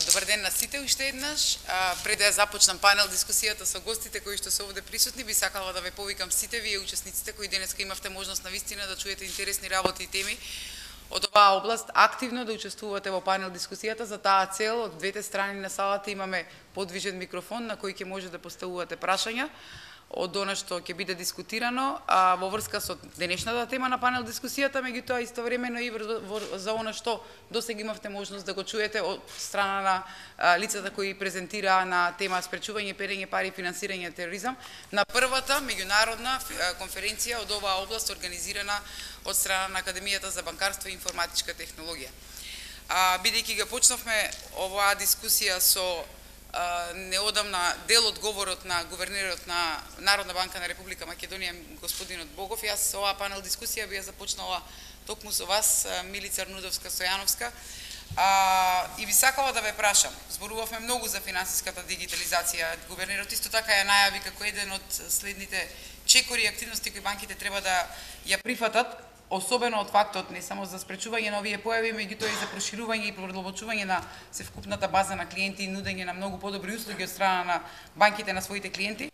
Добар ден на сите уште еднаш. Пред да започнам панел дискусијата со гостите кои што се овде присутни, би сакала да ве повикам сите вие учесниците кои денеска имавте можност навистина да чуете интересни работи и теми од оваа област, активно да учествувате во панел дискусијата. За таа цел од двете страни на салата имаме подвижен микрофон на кој ќе може да поставувате прашања од она што ќе биде дискутирано во врска со денешната тема на панел дискусијата, меѓутоа истовремено и за она што досега имавте можност да го чуете од страна на лицата кои презентираа на тема спречување перење пари и финансирање тероризам на првата меѓународна конференција од оваа област организирана од страна на Академијата за банкарство и информатичка технологија. Бидејќи го почнавме оваа дискусија со неодамна дел од говорот на гувернерот на Народна банка на Република Македонија, господинот Богов, јас оваа панел дискусија би ја започнала токму со вас, Милица Арнудовска-Стојановска, и би сакала да ве прашам. Зборувавме многу за финансиската дигитализација. Гувернерот исто така ја најави како еден од следните чекори и активности кои банките треба да ја прифатат, особено од фактот не само за спречување на овие појави, меѓутоа и за проширување и продлабочување на севкупната база на клиенти и нудење на многу подобри услуги од страна на банките на своите клиенти.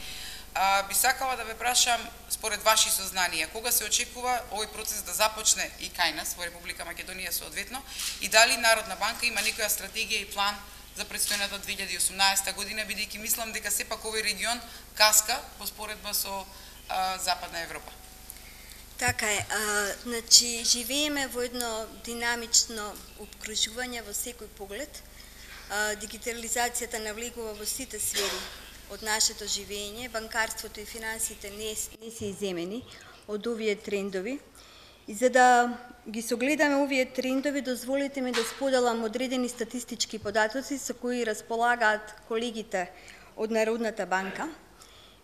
Би сакала да ве прашам, според ваши сознанија, кога се очекува овој процес да започне и кај нас во Република Македонија соодветно, и дали Народна банка има некоја стратегија и план за предстојната 2018 година, бидејќи мислам дека сепак овој регион каска во споредба со Западна Европа. Така е, значи живееме во едно динамично обкружување во секој поглед. Дигитализацијата навлегува во сите сфери од нашето живење, банкарството и финансите не се иземени од овие трендови. И за да ги согледаме овие трендови, дозволите ми да споделам одредени статистички податоци со кои располагаат колегите од Народната банка.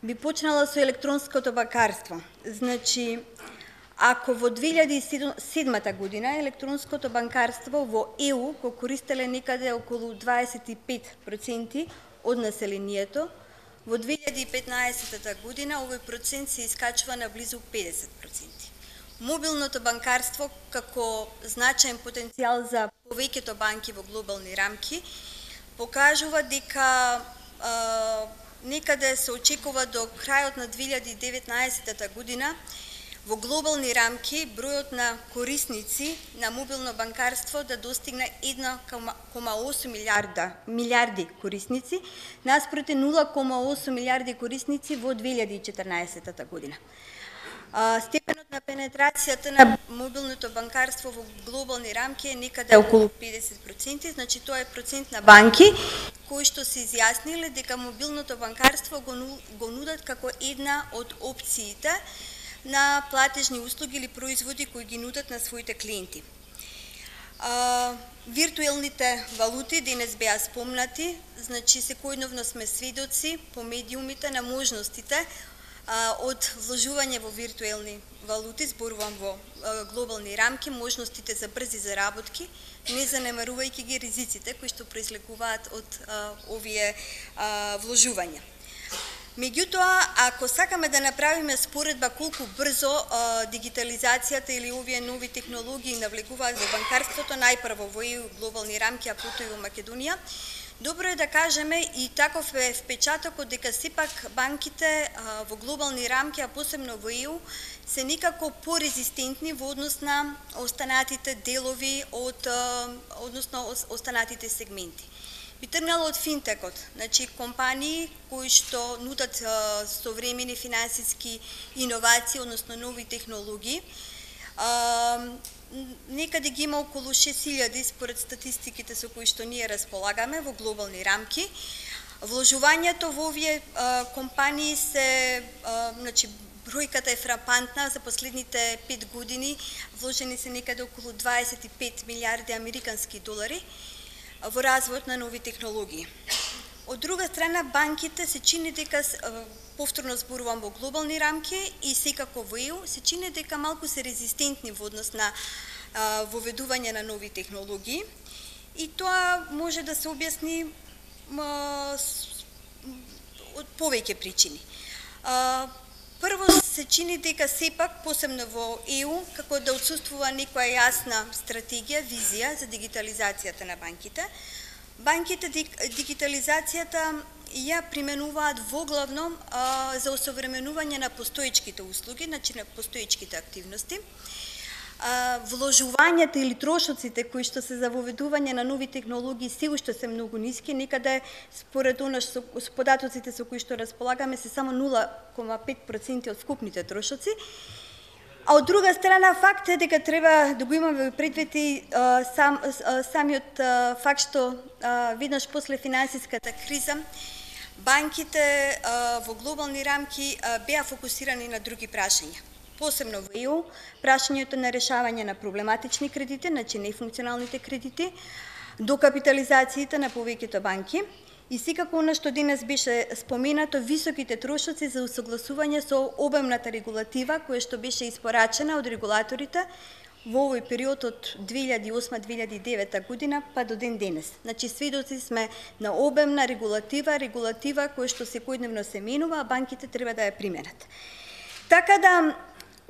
Би почнала со електронското банкарство. Значи, ако во 2007 година електронското банкарство во ЕУ го користеле некаде околу 25% од населението, во 2015 година овој процент се искачува на близу 50%. Мобилното банкарство како значаен потенцијал за повеќето банки во глобални рамки покажува дека некаде се очекува до крајот на 2019 година во глобални рамки бројот на корисници на мобилно банкарство да достигне 1,8 милиарди корисници, наспроти 0,8 милиарди корисници во 2014 година. Степенот на пенетрацијата на мобилното банкарство во глобални рамки е некаде околу 50%, значи тоа е процент на банки кои што се изјасниле дека мобилното банкарство го нудат како една од опциите на платежни услуги или производи кои ги нудат на своите клиенти. Виртуелните валути денес беа спомнати, значи секојдневно сме сведоци по медиумите на можностите од вложување во виртуелни валути, зборувам во глобални рамки, можностите за брзи заработки, не занемарувајќи ги ризиците кои што произлегуваат од овие вложувања. Меѓутоа, ако сакаме да направиме споредба колку брзо дигитализацијата или овие нови технологии навлегуваат во банкарството, најпрво во ЕУ глобални рамки, а потоа и во Македонија, добро е да кажеме и таков е впечатокот дека сепак банките во глобални рамки, а посебно во ЕУ, се некако порезистентни во однос на останатите делови односно останатите сегменти. Би тргнало од финтекот, значи компании кои што нудат современи финансиски иновации, односно нови технологии. Некаде ги има околу 6000 според статистиките со кои што ние располагаме во глобални рамки. Вложувањето во овие компании се, значи, бројката е фрапантна, за последните 5 години вложени се некаде околу 25 милиарди американски долари во развојот на нови технологии. Од друга страна, банките се чини дека, повторно зборувам во глобални рамки и секако во ЕУ, се чини дека малку се резистентни во однос на воведување на нови технологии и тоа може да се објасни од повеќе причини. Прво се чини дека сепак, посебно во ЕУ, како да отсуствува некоја јасна стратегија, визија за дигитализацијата на банките. Банките дигитализацијата ја применуваат воглавно за осовременување на постоечките услуги, значи на постоечките активности. Вложувањата или трошоците кои што се за воведување на нови технологии се уште се многу ниски, некаде според она со податоците со кои што располагаме се само 0,5% од скупните трошоци. А од друга страна факт е дека треба да го имаме предвид и самиот факт што веднаш после финансиската криза банките во глобални рамки беа фокусирани на други прашања. Посебно во ЕУ, прашањето на решавање на проблематични кредити, значи нефункционалните кредити, докапитализациите на повеќето банки и секако она што денес беше споменато, високите трошоци за усогласување со обемната регулатива која што беше испорачена од регулаторите во овој период од 2008-2009 година па до ден денес. Значи сведоци сме на обемна регулатива која што секојдневно се менува, а банките треба да ја применат. Така да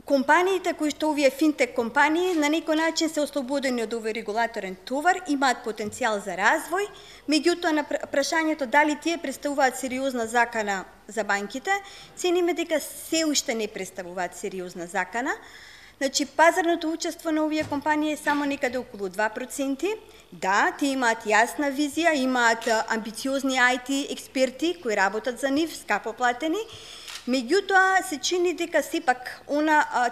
компаниите кои што овие финтек компании на некој начин се ослободени од овој регулаторен товар, имаат потенцијал за развој, меѓутоа на прашањето дали тие представуваат сериозна закана за банките, цениме дека се уште не представуваат сериозна закана. Значи пазарното учество на овие компании е само некаде околу 2%. Да, тие имаат јасна визија, имаат амбициозни IT експерти кои работат за нив, скапо платени. Меѓутоа се чини дека сепак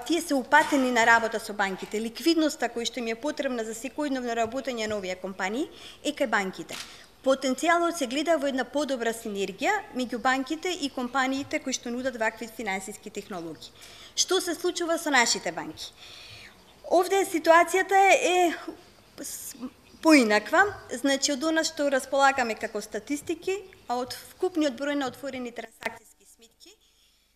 тие се упатени на работа со банките. Ликвидноста која што им е потребна за секојдневно работење на овие компании е кај банките. Потенцијалот се гледа во една подобра синергија меѓу банките и компаниите кои што нудат вакви финансиски технологии. Што се случува со нашите банки? Овде ситуацијата е поинаква, значи од она што располагаме како статистики, а од вкупниот број на отворени трансакцијски сметки,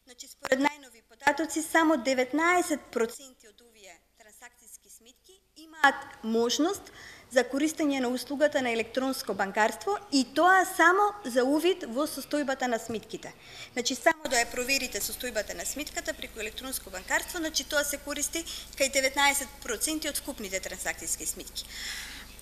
значи според најнови податоци само 19% од овие трансакцијски сметки имаат можност за користење на услугата на електронско банкарство и тоа само за увид во состојбата на сметките. Значи само да ја проверите состојбата на сметката преку електронско банкарство, значи тоа се користи кај 19% од вкупните трансакцијски сметки.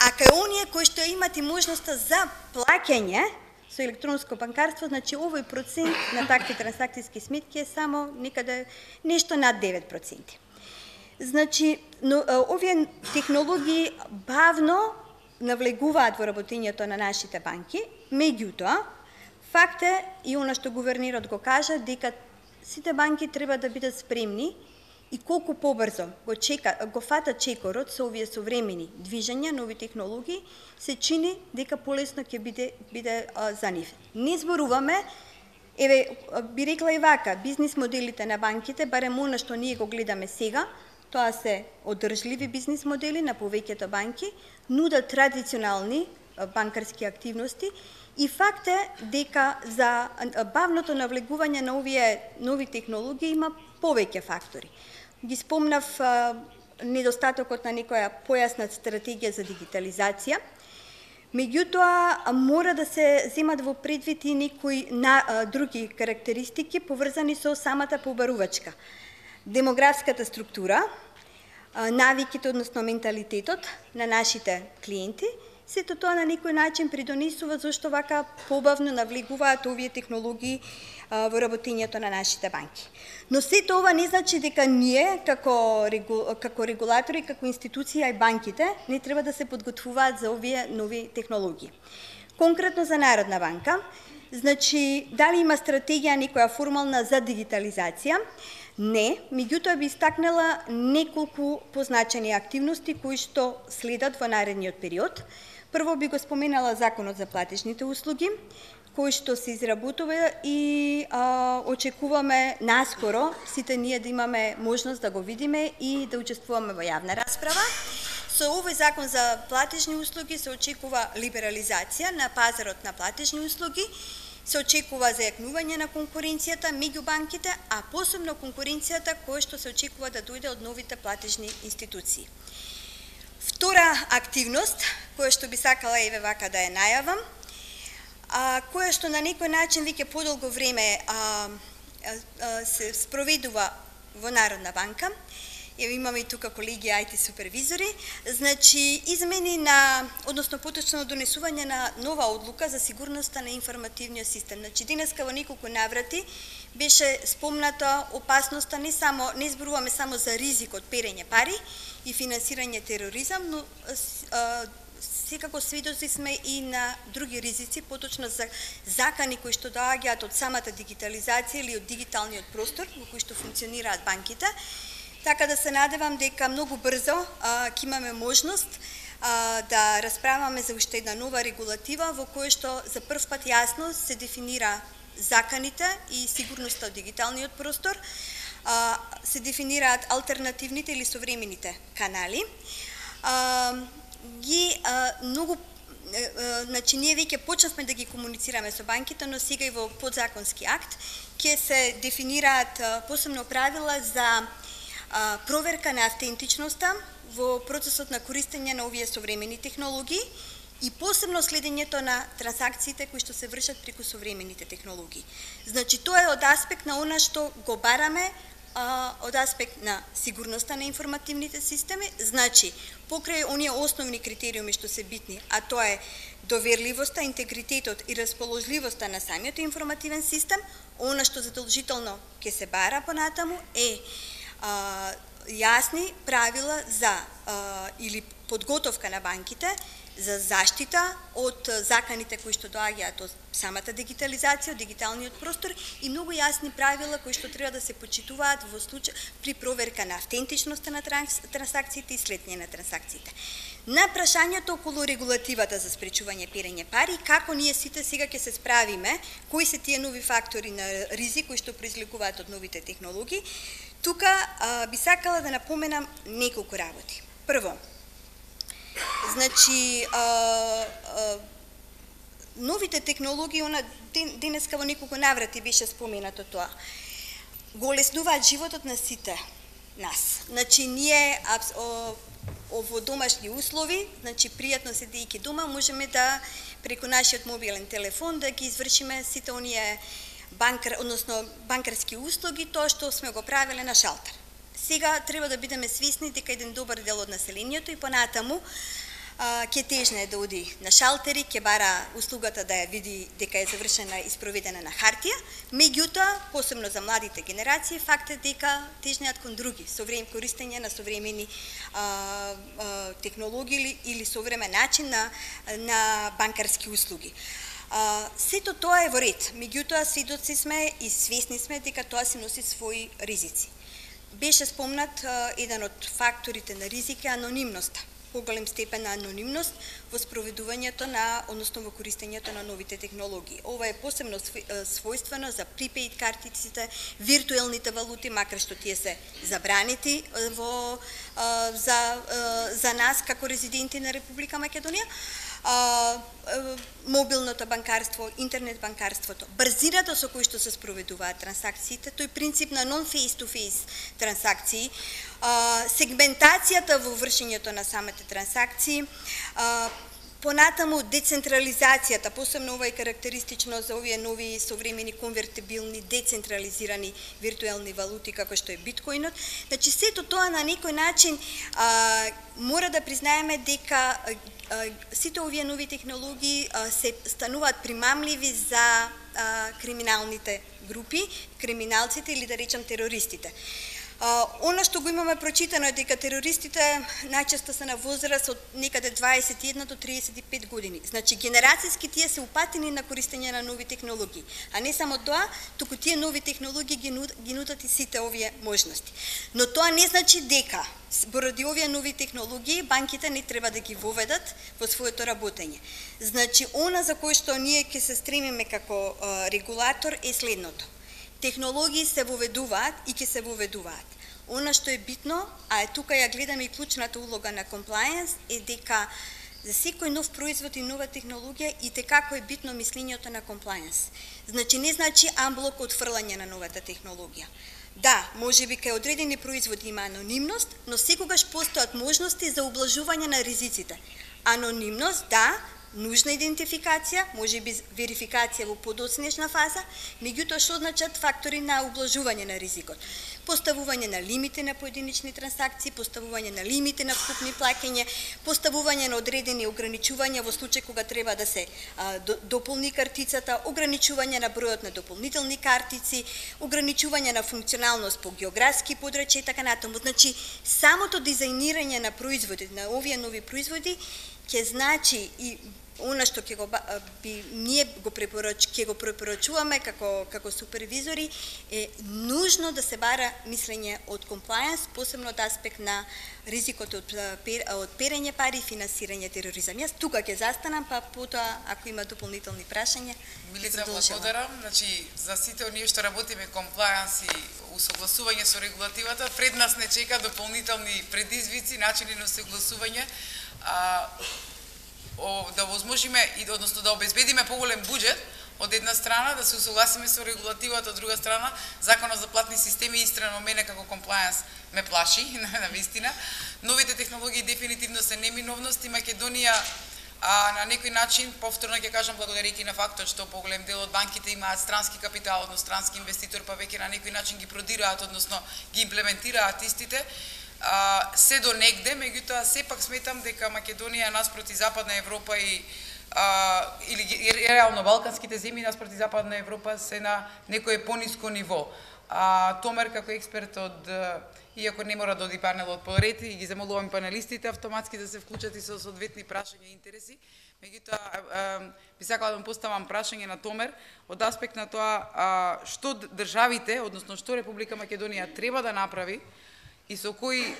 А кај оние кои што имат и можноста за плаќање со електронско банкарство, значи овој процент на такви трансакцијски сметки е само некаде нешто над 9%. Значи, овие технологии бавно навлегуваат во работењето на нашите банки, меѓутоа, факт е и она што гувернерот го кажа, дека сите банки треба да бидат спремни и колку побрзо го фатат чекорот со овие современи движења, нови технологии, се чини дека полесно ќе биде за нив. Не зборуваме, би рекла и вака, бизнис моделите на банките, барем она што ние го гледаме сега, тоа се одржливи бизнис модели на повеќето банки, нудат традиционални банкарски активности и факт е дека за бавното навлегување на овие нови технологии има повеќе фактори. Ги спомнав недостатокот на некоја појасна стратегија за дигитализација, меѓутоа мора да се земат во предвид и некои други карактеристики поврзани со самата побарувачка. Демографската структура, навиките, односно менталитетот на нашите клиенти, сето тоа на некој начин придонесува зашто вака побавно навлегуваат овие технологии во работењето на нашите банки. Но сето ова не значи дека ние, како регулатори, како институција и банките, не треба да се подготвуваат за овие нови технологии. Конкретно за Народна банка, значи, дали има стратегија некоја формална за дигитализација? Не, меѓутоа би истакнала неколку позначени активности кои што следат во наредниот период. Прво би го споменала Законот за платежните услуги, кој што се изработува и очекуваме наскоро сите ние да имаме можност да го видиме и да учествуваме во јавна расправа. Со овој Закон за платежни услуги се очекува либерализација на пазарот на платежни услуги, се очекува зајакнување на конкуренцијата меѓу банките, а посебно конкуренцијата која што се очекува да дојде од новите платежни институции. Втора активност, која што би сакала еве вака да ја најавам, која што на некој начин веќе подолго време се спроведува во Народна банка, имаме и тука колеги IT супервизори, значи измени на, односно поточно донесување на нова одлука за сигурноста на информативниот систем. Значи денеска во неколку наврати беше спомната опасноста не зборуваме само за ризик од перење пари и финансирање тероризам, но секако сведоци сме и на други ризици, поточно за закани кои што доаѓаат од самата дигитализација или од дигиталниот простор во кој што функционираат банките. Така да се надевам дека многу брзо ќе имаме можност да расправаме за уште една нова регулатива во која што за прв пат јасно се дефинира заканите и сигурноста од дигиталниот простор, се дефинираат алтернативните или современите канали. Значи ние веќе почнавме да ги комуницираме со банките, но сега и во подзаконски акт ќе се дефинираат посебно правила за проверка на автентичноста во процесот на користење на овие современи технологии и посебно следењето на трансакциите кои што се вршат преку современите технологии. Значи тоа е од аспект на она што го бараме, од аспект на сигурноста на информативните системи, значи покрај оние основни критериуми што се битни, а тоа е доверливоста, интегритетот и расположливоста на самиот информативен систем, она што задолжително ќе се бара понатаму е јасни правила за или подготовка на банките за заштита од заканите кои што доаѓаат од самата дигитализација, од дигиталниот простор и многу јасни правила кои што треба да се почитуваат во случај при проверка на автентичноста на трансакциите и следење на трансакциите. На прашањето околу регулативата за спречување перење пари, како ние сите сега ќе се справиме, кои се тие нови фактори на ризик кои што произликуваат од новите технологии, тука би сакала да напоменам неколку работи. Прво, значи, новите технологии, денеска во неколку наврати беше споменато тоа, го олеснуваат животот на сите нас. Значи, ние во домашни услови, значи, пријатно седејќи дома, можеме да преку нашиот мобилен телефон да ги извршиме сите оние банкарски услуги, тоа што сме го правеле на шалтер. Сега треба да бидеме свесни дека еден добар дел од населението и понатаму ќе тежне да оди на шалтери, ќе бара услугата да ја види дека е завршена и спроведена на хартија, меѓутоа, посебно за младите генерации, факт е дека тежнеат кон други, користење на современи технологии или современ начин на банкарски услуги. Сето тоа е во ред, меѓутоа сведоци сме и свесни сме дека тоа си носи своји ризици. Беше спомнат еден од факторите на ризик е анонимноста, поголем степен на анонимност во спроведувањето на, односно во користењето на новите технологии. Ова е посебно својствено за припеид картиците, виртуелните валути, макар што тие се забранети за нас како резиденти на Република Македонија, мобилното банкарство, интернет банкарството, брзината со кој што се спроведуваат трансакциите, тој принцип на non-face-to-face трансакции, сегментацијата во вршењето на самите трансакции, понатаму децентрализацијата, посебно ова е карактеристично за овие нови современи конвертибилни, децентрализирани виртуелни валути како што е биткоинот. Значи сето тоа на некој начин мора да признаеме дека сите овие нови технологии се стануваат примамливи за криминалните групи, криминалците или да речам терористите. Она што го имаме прочитано е дека терористите најчесто се на возраст од некаде 21 до 35 години. Значи генерацијски тие се упатени на користење на нови технологии, а не само тоа, туку тие нови технологии ги нудат и сите овие можности. Но тоа не значи дека поради овие нови технологии банките не треба да ги воведат во своето работење. Значи она за кој што ние ќе се стремиме како регулатор е следното. Технологии се воведуваат и ќе се воведуваат. Она што е битно, а е тука ја гледаме и клучната улога на compliance, е дека за секој нов производ и нова технологија и како е битно мислењето на compliance. Значи не значи амблок отфрлање на новата технологија. Да, можеби кај одредени производи има анонимност, но секогаш постојат можности за ублажување на ризиците. Анонимност, да, нужна идентификација, можеби верификација во подоцнешна фаза, меѓутоа што значат фактори на ублажување на ризикот. поставување на лимити на поединични трансакции, поставување на лимити на вкупни плаќања, поставување на одредени ограничувања во случај кога треба да се дополни картицата, ограничување на бројот на дополнителни картици, ограничување на функционалност по географски подрачја и така натаму. Значи, самото дизајнирање на производи, на овие нови производи, ќе значи и она што ќе го препорачуваме како супервизори е нужно да се бара мислење од комплајенс, посебно од аспект на ризикот од перење пари и финансирање тероризам. Јас тука ќе застанам, па потоа ако има дополнителни прашања. Милица, благодарам. Значи, за сите оние што работиме комплајенс и усогласување со регулативата, пред нас не чека дополнителни предизвици, начини на усогласување, да возможиме и односно да обезбедиме поголем буџет од една страна, да се усогласиме со регулативата од друга страна. Законот за платни системи истрено мене како комплајенс ме плаши, на вистина. Новите технологии дефинитивно се неминовност и Македонија на некој начин, повторно ќе кажам, благодарејќи на фактот што поголем дел од банките имаат странски капитал, односно странски инвеститор, па веќе на некој начин ги продираат, односно ги имплементираат истите, се до негде, меѓутоа сепак сметам дека Македонија наспроти Западна Европа или реално балканските земји наспроти Западна Европа се на некое пониско ниво. Томер како експерт иако не мора да оди панелот поред, и ги замолувам панелистите автоматски да се вклучат и со соодветни прашања и интереси. Меѓутоа, би сакала да поставам прашање на Томер од аспект на тоа што државите, односно што Република Македонија треба да направи и со кои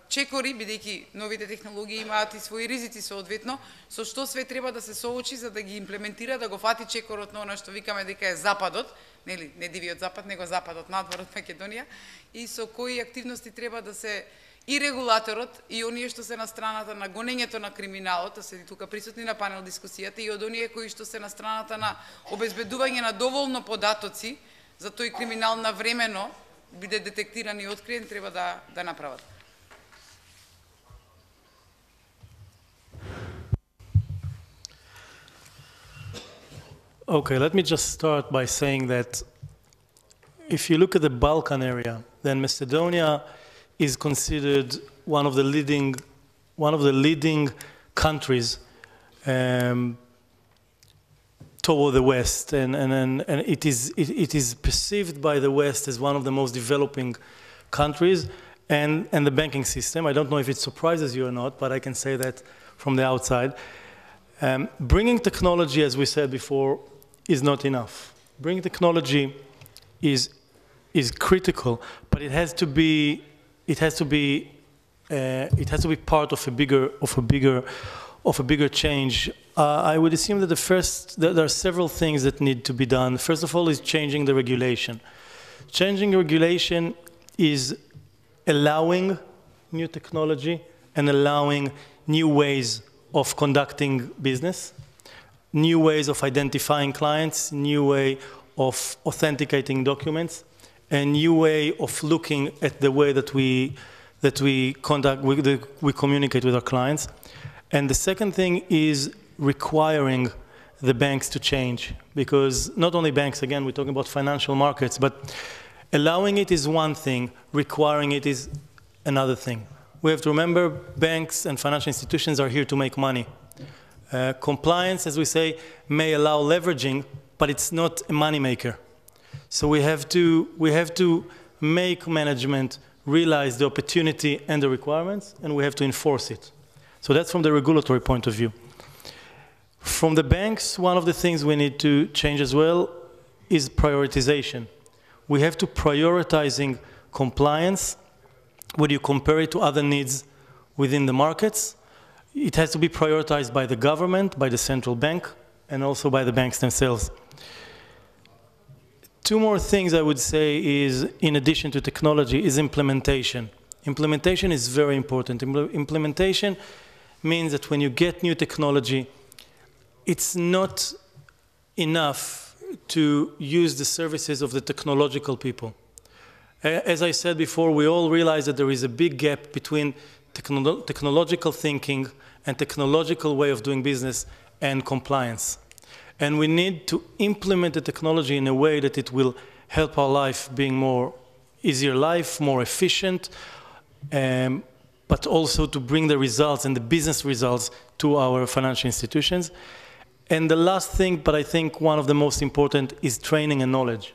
чекори, бидејќи новите технологии имаат и своји ризици соодветно, со што све треба да се соочи за да ги имплементира, да го фати чекорот на она што викаме дека е Западот, нели, не дивиот Запад, него Западот надвор од Македонија, и со кои активности треба да се и регулаторот, и оние што се на страната на гонењето на криминалот, да се тука присутни на панел дискусијата, и од оние кои што се на страната на обезбедување на доволно податоци за тој криминал навремено биде детектиран и откриен, треба да направат. Okay, let me just start by saying that if you look at the Balkan area, then Macedonia is considered one of the leading countries toward the West, and it is perceived by the West as one of the most developing countries, and the banking system. I don't know if it surprises you or not, but I can say that from the outside. Bringing technology, as we said before, is not enough. Bringing technology is critical, but it has to be part of a bigger change. I would assume that there are several things that need to be done. First of all is changing the regulation. Changing regulation is allowing new technology and allowing new ways of conducting business, new ways of identifying clients, new way of authenticating documents, a new way of looking at the way that we communicate with our clients. And the second thing is requiring the banks to change, because not only banks, again, we're talking about financial markets, but allowing it is one thing, requiring it is another thing. We have to remember banks and financial institutions are here to make money. Compliance, as we say, may allow leveraging, but it's not a money maker. So we have to make management realize the opportunity and the requirements, and we have to enforce it. So that's from the regulatory point of view. From the banks, one of the things we need to change as well is prioritization. We have to prioritizing compliance when you compare it to other needs within the markets. It has to be prioritized by the government, by the central bank, and also by the banks themselves. Two more things I would say is, in addition to technology, is implementation. Implementation is very important. Implementation means that when you get new technology, it's not enough to use the services of the technological people. As I said before, we all realize that there is a big gap between technological thinking and technological way of doing business and compliance. And we need to implement the technology in a way that it will help our life being more easier life, more efficient, but also to bring the results and the business results to our financial institutions. And the last thing, but I think one of the most important, is training and knowledge.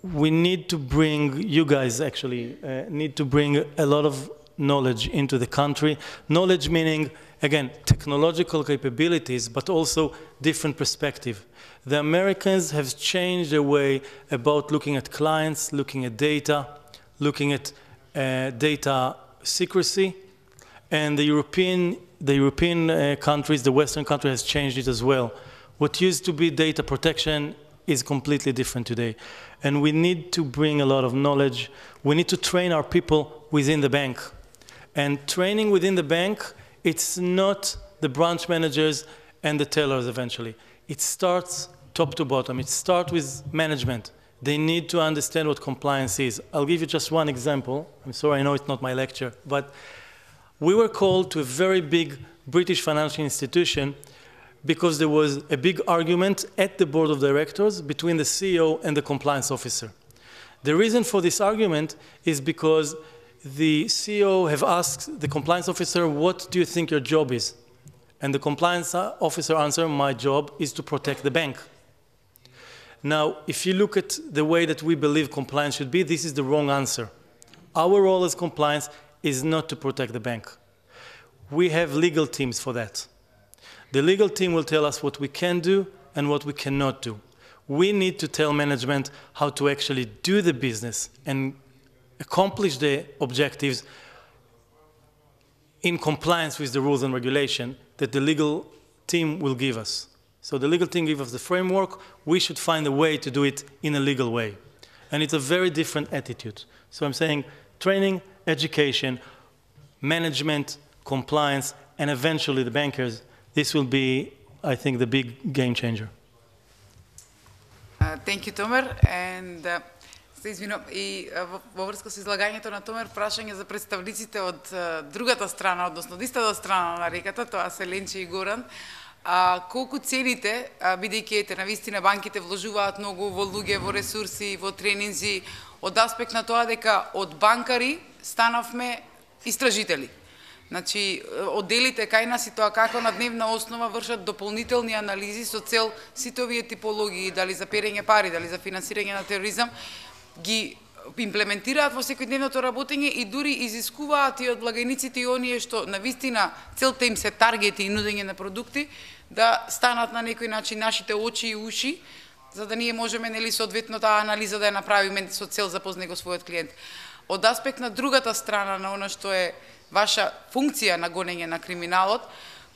We need to bring, you guys actually need to bring a lot of knowledge into the country. Knowledge meaning, again, technological capabilities, but also different perspective. The Americans have changed their way about looking at clients, looking at data, looking at data secrecy, and the European countries, the Western country has changed it as well. What used to be data protection is completely different today. And we need to bring a lot of knowledge. We need to train our people within the bank. And training within the bank, it's not the branch managers and the tellers eventually. It starts top to bottom. It starts with management. They need to understand what compliance is. I'll give you just one example. I'm sorry, I know it's not my lecture, but we were called to a very big British financial institution because there was a big argument at the board of directors between the CEO and the compliance officer. The reason for this argument is because the CEO have asked the compliance officer, what do you think your job is? And the compliance officer answered, my job is to protect the bank. Now, if you look at the way that we believe compliance should be, this is the wrong answer. Our role as compliance is not to protect the bank. We have legal teams for that. The legal team will tell us what we can do and what we cannot do. We need to tell management how to actually do the business and accomplish the objectives in compliance with the rules and regulation that the legal team will give us. So the legal team gives us the framework. We should find a way to do it in a legal way. And it's a very different attitude. So I'm saying training, education, management, compliance, and eventually the bankers. This will be, I think, the big game changer. Thank you, Tomer. And се извинувам, и во врска со излагањето на Томер, прашање за представниците од другата страна, односно од истата страна на реката, тоа се Ленче и Горан. Колку цените, бидејќи ете навистина банките вложуваат многу во луѓе, во ресурси, во тренинзи, од аспект на тоа дека од банкари станавме истражители. Значи, одделите кај нас и тоа како на дневна основа вршат дополнителни анализи со цел сите овие типологии, дали за перење пари, дали за финансирање на тероризам, ги имплементираат во секојдневното работење и дури изискуваат и од благајниците и оние што навистина целта им се таргети и нудење на продукти, да станат на некој начин нашите очи и уши, за да ние можеме нели соодветно таа анализа да ја направиме со цел запознае го својот клиент. Од аспект на другата страна на она што е ваша функција на гонење на криминалот,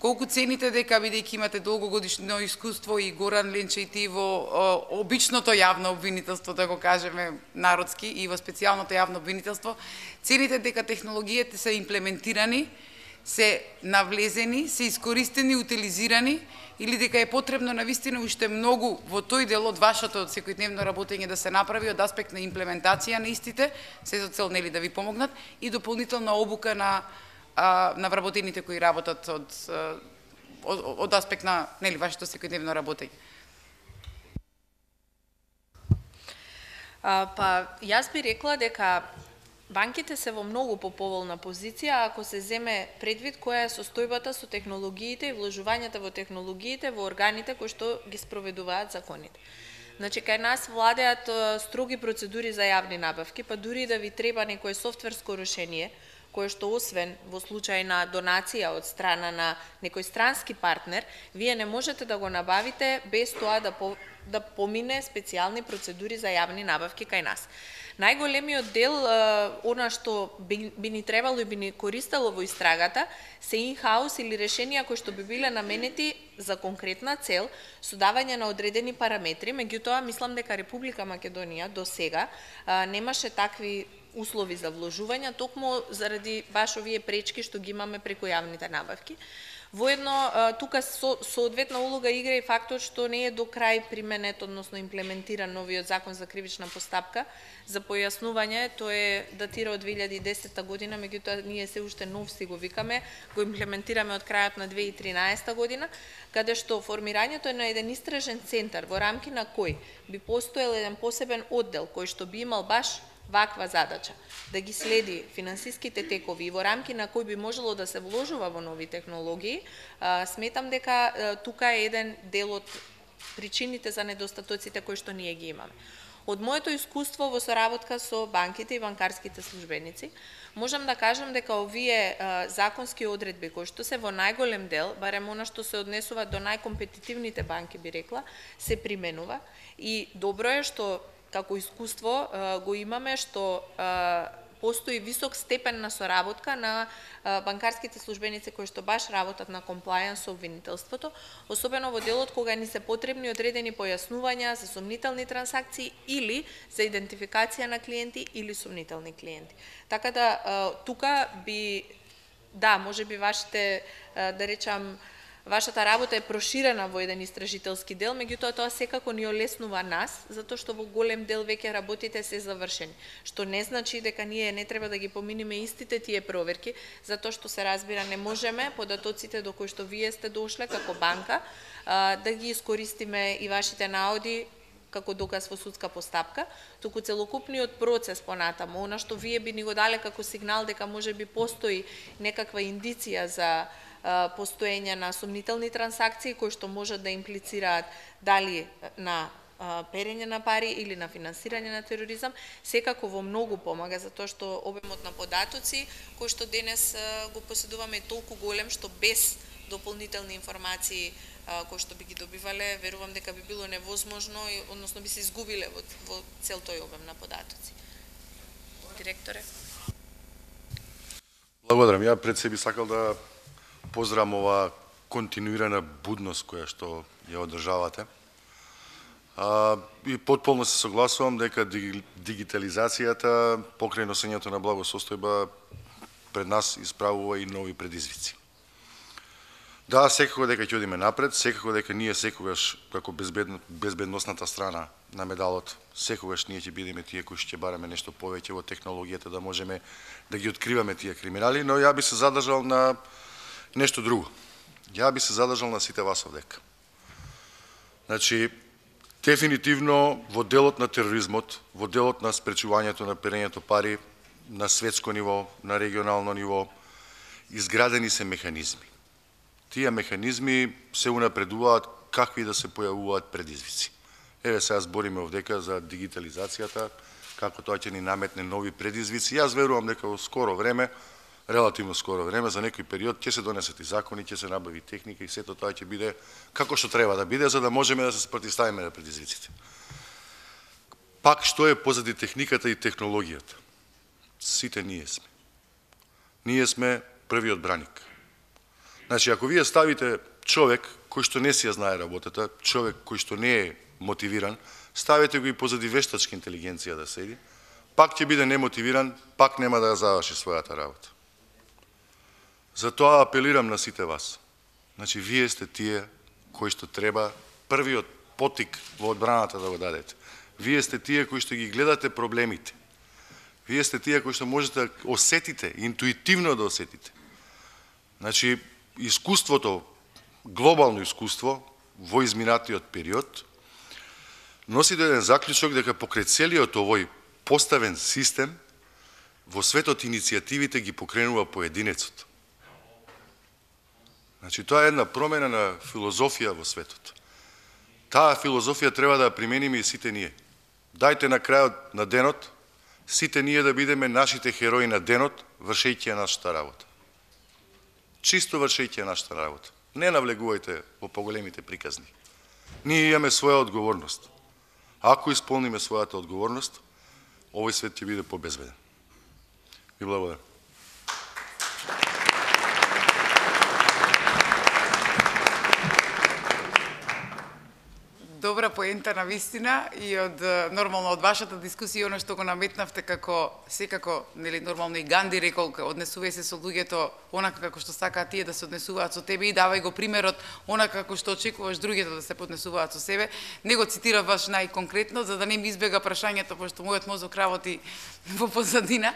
колку цените дека, бидејќи имате долгогодишно искуство и Горан, Ленче и ти во обичното јавно обвинителство, да го кажеме народски, и во специјалното јавно обвинителство, цените дека технологиите се имплементирани, се навлезени, се искористени, утилизирани, или дека е потребно навистина уште многу во тој дел од вашето секојдневно работење да се направи од аспект на имплементација на истите, се со цел нели да ви помогнат, и дополнителна обука на вработените кои работат од аспект на нели вашето секојдневно работење. Па јас би рекла дека банките се во многу поповолна позиција ако се земе предвид која е состојбата со технологиите и вложувањата во технологиите во органите кои што ги спроведуваат законите. Значи, кај нас владеат строги процедури за јавни набавки, па дури да ви треба некое софтверско решение, кое што освен во случај на донација од страна на некој странски партнер, вие не можете да го набавите без тоа да помине специјални процедури за јавни набавки кај нас. Најголемиот дел, она што би ни требало и би ни користело во истрагата, се in-house или решенија кои што би биле наменети за конкретна цел, со давање на одредени параметри. Меѓутоа, мислам дека Република Македонија до сега немаше такви услови за вложување, токму заради баш овие пречки што ги имаме преку јавните набавки. Воедно, тука соодветна улога игра и фактот што не е до крај применет, односно имплементиран новиот закон за кривична постапка. За појаснување, тој е датира од 2010 година, меѓутоа ние се уште нов си го викаме, го имплементираме од крајот на 2013 година, каде што формирањето е на еден истражен центар во рамки на кој би постоел еден посебен оддел кој што би имал баш ваква задача, да ги следи финансиските текови и во рамки на кој би можело да се вложува во нови технологии. Сметам дека тука е еден дел од причините за недостатоците кои што ние ги имаме. Од моето искуство во соработка со банките и банкарските службеници, можам да кажам дека овие законски одредби кои што се во најголем дел, барем она што се однесува до најкомпетитивните банки, би рекла, се применува и добро е што како искуство го имаме што постои висок степен на соработка на банкарските службеници кои што баш работат на комплајанс со обвинителството, особено во делот кога ни се потребни одредени појаснувања за сомнителни трансакции или за идентификација на клиенти или сомнителни клиенти. Така да тука би, да, може би вашите, да речам, вашата работа е проширена во еден истражителски дел, меѓутоа тоа секако ни олеснува нас, затоа што во голем дел веќе работите се завршени, што не значи дека ние не треба да ги поминиме истите тие проверки, затоа што се разбира не можеме податоците до кои што вие сте дошле како банка да ги искористиме и вашите наоди како доказ во судска постапка, туку целокупниот процес понатаму, она што вие би ни го дале како сигнал дека можеби постои некаква индиција за постоење на сомнителни трансакции кои што можат да имплицираат дали на перење на пари или на финансирање на тероризам, секако во многу помага, затоа што обемот на податоци кои што денес го поседуваме е толку голем што без дополнителни информации кои што би ги добивале, верувам дека би било невозможно, односно би се изгубиле во цел тој обем на податоци. Директоре. Благодарам. Ја пред себе сакал да поздравам ова континуирана будност која што ја одржавате. И потполно се согласувам дека дигитализацијата покрај носењето на благосостојба пред нас исправува и нови предизвици. Да, секако дека ќе одиме напред, секако дека ние секогаш како безбедносната страна на медалот, секогаш ние ќе бидеме тие кои ќе бараме нешто повеќе во технологијата да можеме да ги откриваме тие криминали, но ја би се задржал на нешто друго. Ја би се задржал на сите вас овдека. Значи, дефинитивно во делот на тероризмот, во делот на спречувањето на перењето пари на светско ниво, на регионално ниво, изградени се механизми. Тие механизми се унапредуваат какви да се појавуваат предизвици. Еве сега збориме овдека за дигитализацијата, како тоа ќе ни наметне нови предизвици. Јас верувам дека во скоро време, релативно скоро време, за некој период ќе се донесат и закони, ќе се набави техника и сето тоа ќе биде како што треба да биде, за да можеме да се спротивставиме на предизвиците. Пак што е позади техниката и технологијата? Сите ние сме. Ние сме првиот браник. Значи, ако вие ставите човек кој што не си ја знае работата, човек кој што не е мотивиран, ставите го и позади вештачка интелигенција да седи, пак ќе биде немотивиран, пак нема да ја заврши својата работа. Затоа апелирам на сите вас. Значи, вие сте тие кои што треба првиот потик во одбраната да го дадете. Вие сте тие кои што ги гледате проблемите. Вие сте тие кои што можете да осетите, интуитивно да осетите. Значи, искуството, глобално искуство во изминатиот период носи до еден заклучок дека покрај целиот овој поставен систем во светот иницијативите ги покренува поединецот. Значи, тоа е една промена на филозофија во светот. Таа филозофија треба да ја примениме и сите ние. Дајте на крајот на денот сите ние да бидеме нашите херои на денот, вршејќи ја нашата работа. Чисто вршејќи ја нашата работа. Не навлегувајте во поголемите приказни. Ние имаме своја одговорност. Ако исполниме својата одговорност, овој свет ќе биде побезбеден. Ви благодарам. Добра поента на вистина и од нормално од вашата дискусија оно што го наметнавте како секако нели нормално и Ганди рекол однесувај се со луѓето онака како што сакаат тие да се однесуваат со тебе и давај го примерот онака како што очекуваш другите да се поднесуваат со себе. Не го цитирав баш најконкретно за да не ми избега прашањето пошто мојот мозок работи во позадина.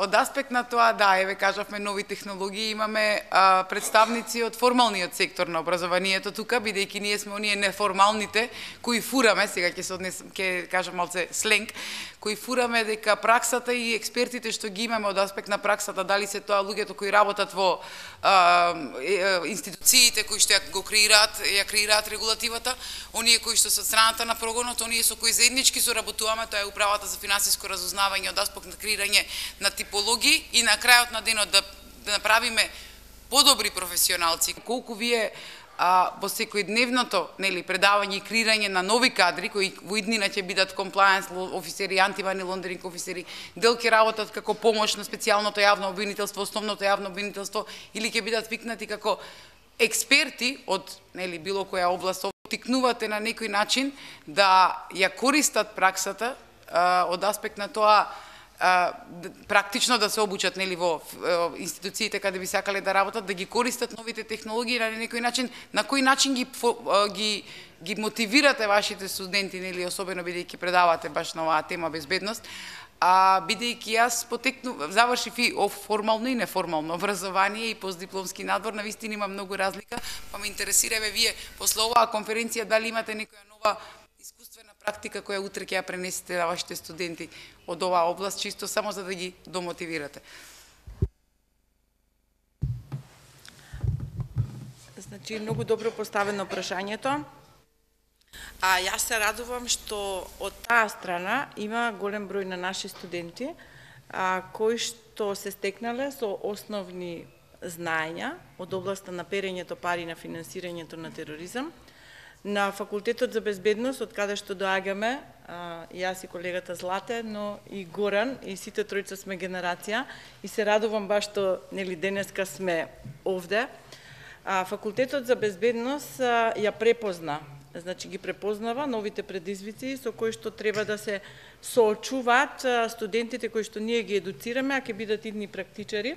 Од аспект на тоа да, еве кажавме нови технологии, имаме представници од формалниот сектор на образованието тука, бидејќи ние сме оние неформалните кои фураме, сега ќе кажам малце сленг, кои фураме дека праксата и експертите што ги имаме од аспект на праксата, дали се тоа луѓето кои работат во институциите кои што ја креираат регулативата, оние кои што се од страната на прогонот, оние со кои заеднички соработуваме, тоа е управата за финансиско разузнавање од аспект на креирање на типологии и на крајот на денот да направиме подобри професионалци. Колку вие во секојдневното предавање и креирање на нови кадри кои во иднина ќе бидат комплајенс офисери, антимани лондеринг офисери, дел ќе работат како помош на специјалното јавно обвинителство, основното јавно обвинителство или ќе бидат викнати како експерти од било која област, тикнувате на некој начин да ја користат праксата од аспект на тоа практично да се обучат во институциите каде би сакале да работат, да ги користат новите технологии на некој начин, на кој начин ги мотивирате вашите студенти, особено бидејќи предавате баш на оваа тема безбедност, бидејќи јас завршив и формално и неформално образование и постдипломски надбор, навистина има многу разлика, па ме интересира вие после оваа конференција дали имате некоја нова искуствена практика која утре ќе ја пренесете на вашите студенти од оваа област, чисто само за да ги домотивирате. Значи, многу добро поставено прашањето. Јас се радувам што од таа страна има голем број на наши студенти кои што се стекнале со основни знаења од областа на перењето пари на финансирањето на тероризам. На Факултетот за безбедност, од каде што доаѓаме, јас и колегата Злате, но и Горан, и сите тројца сме генерација, и се радувам баш што денеска сме овде. Факултетот за безбедност ја препозна, значи ги препознава новите предизвици со кои што треба да се соочуваат студентите кои што ние ги едуцираме, а ќе бидат идни практичари.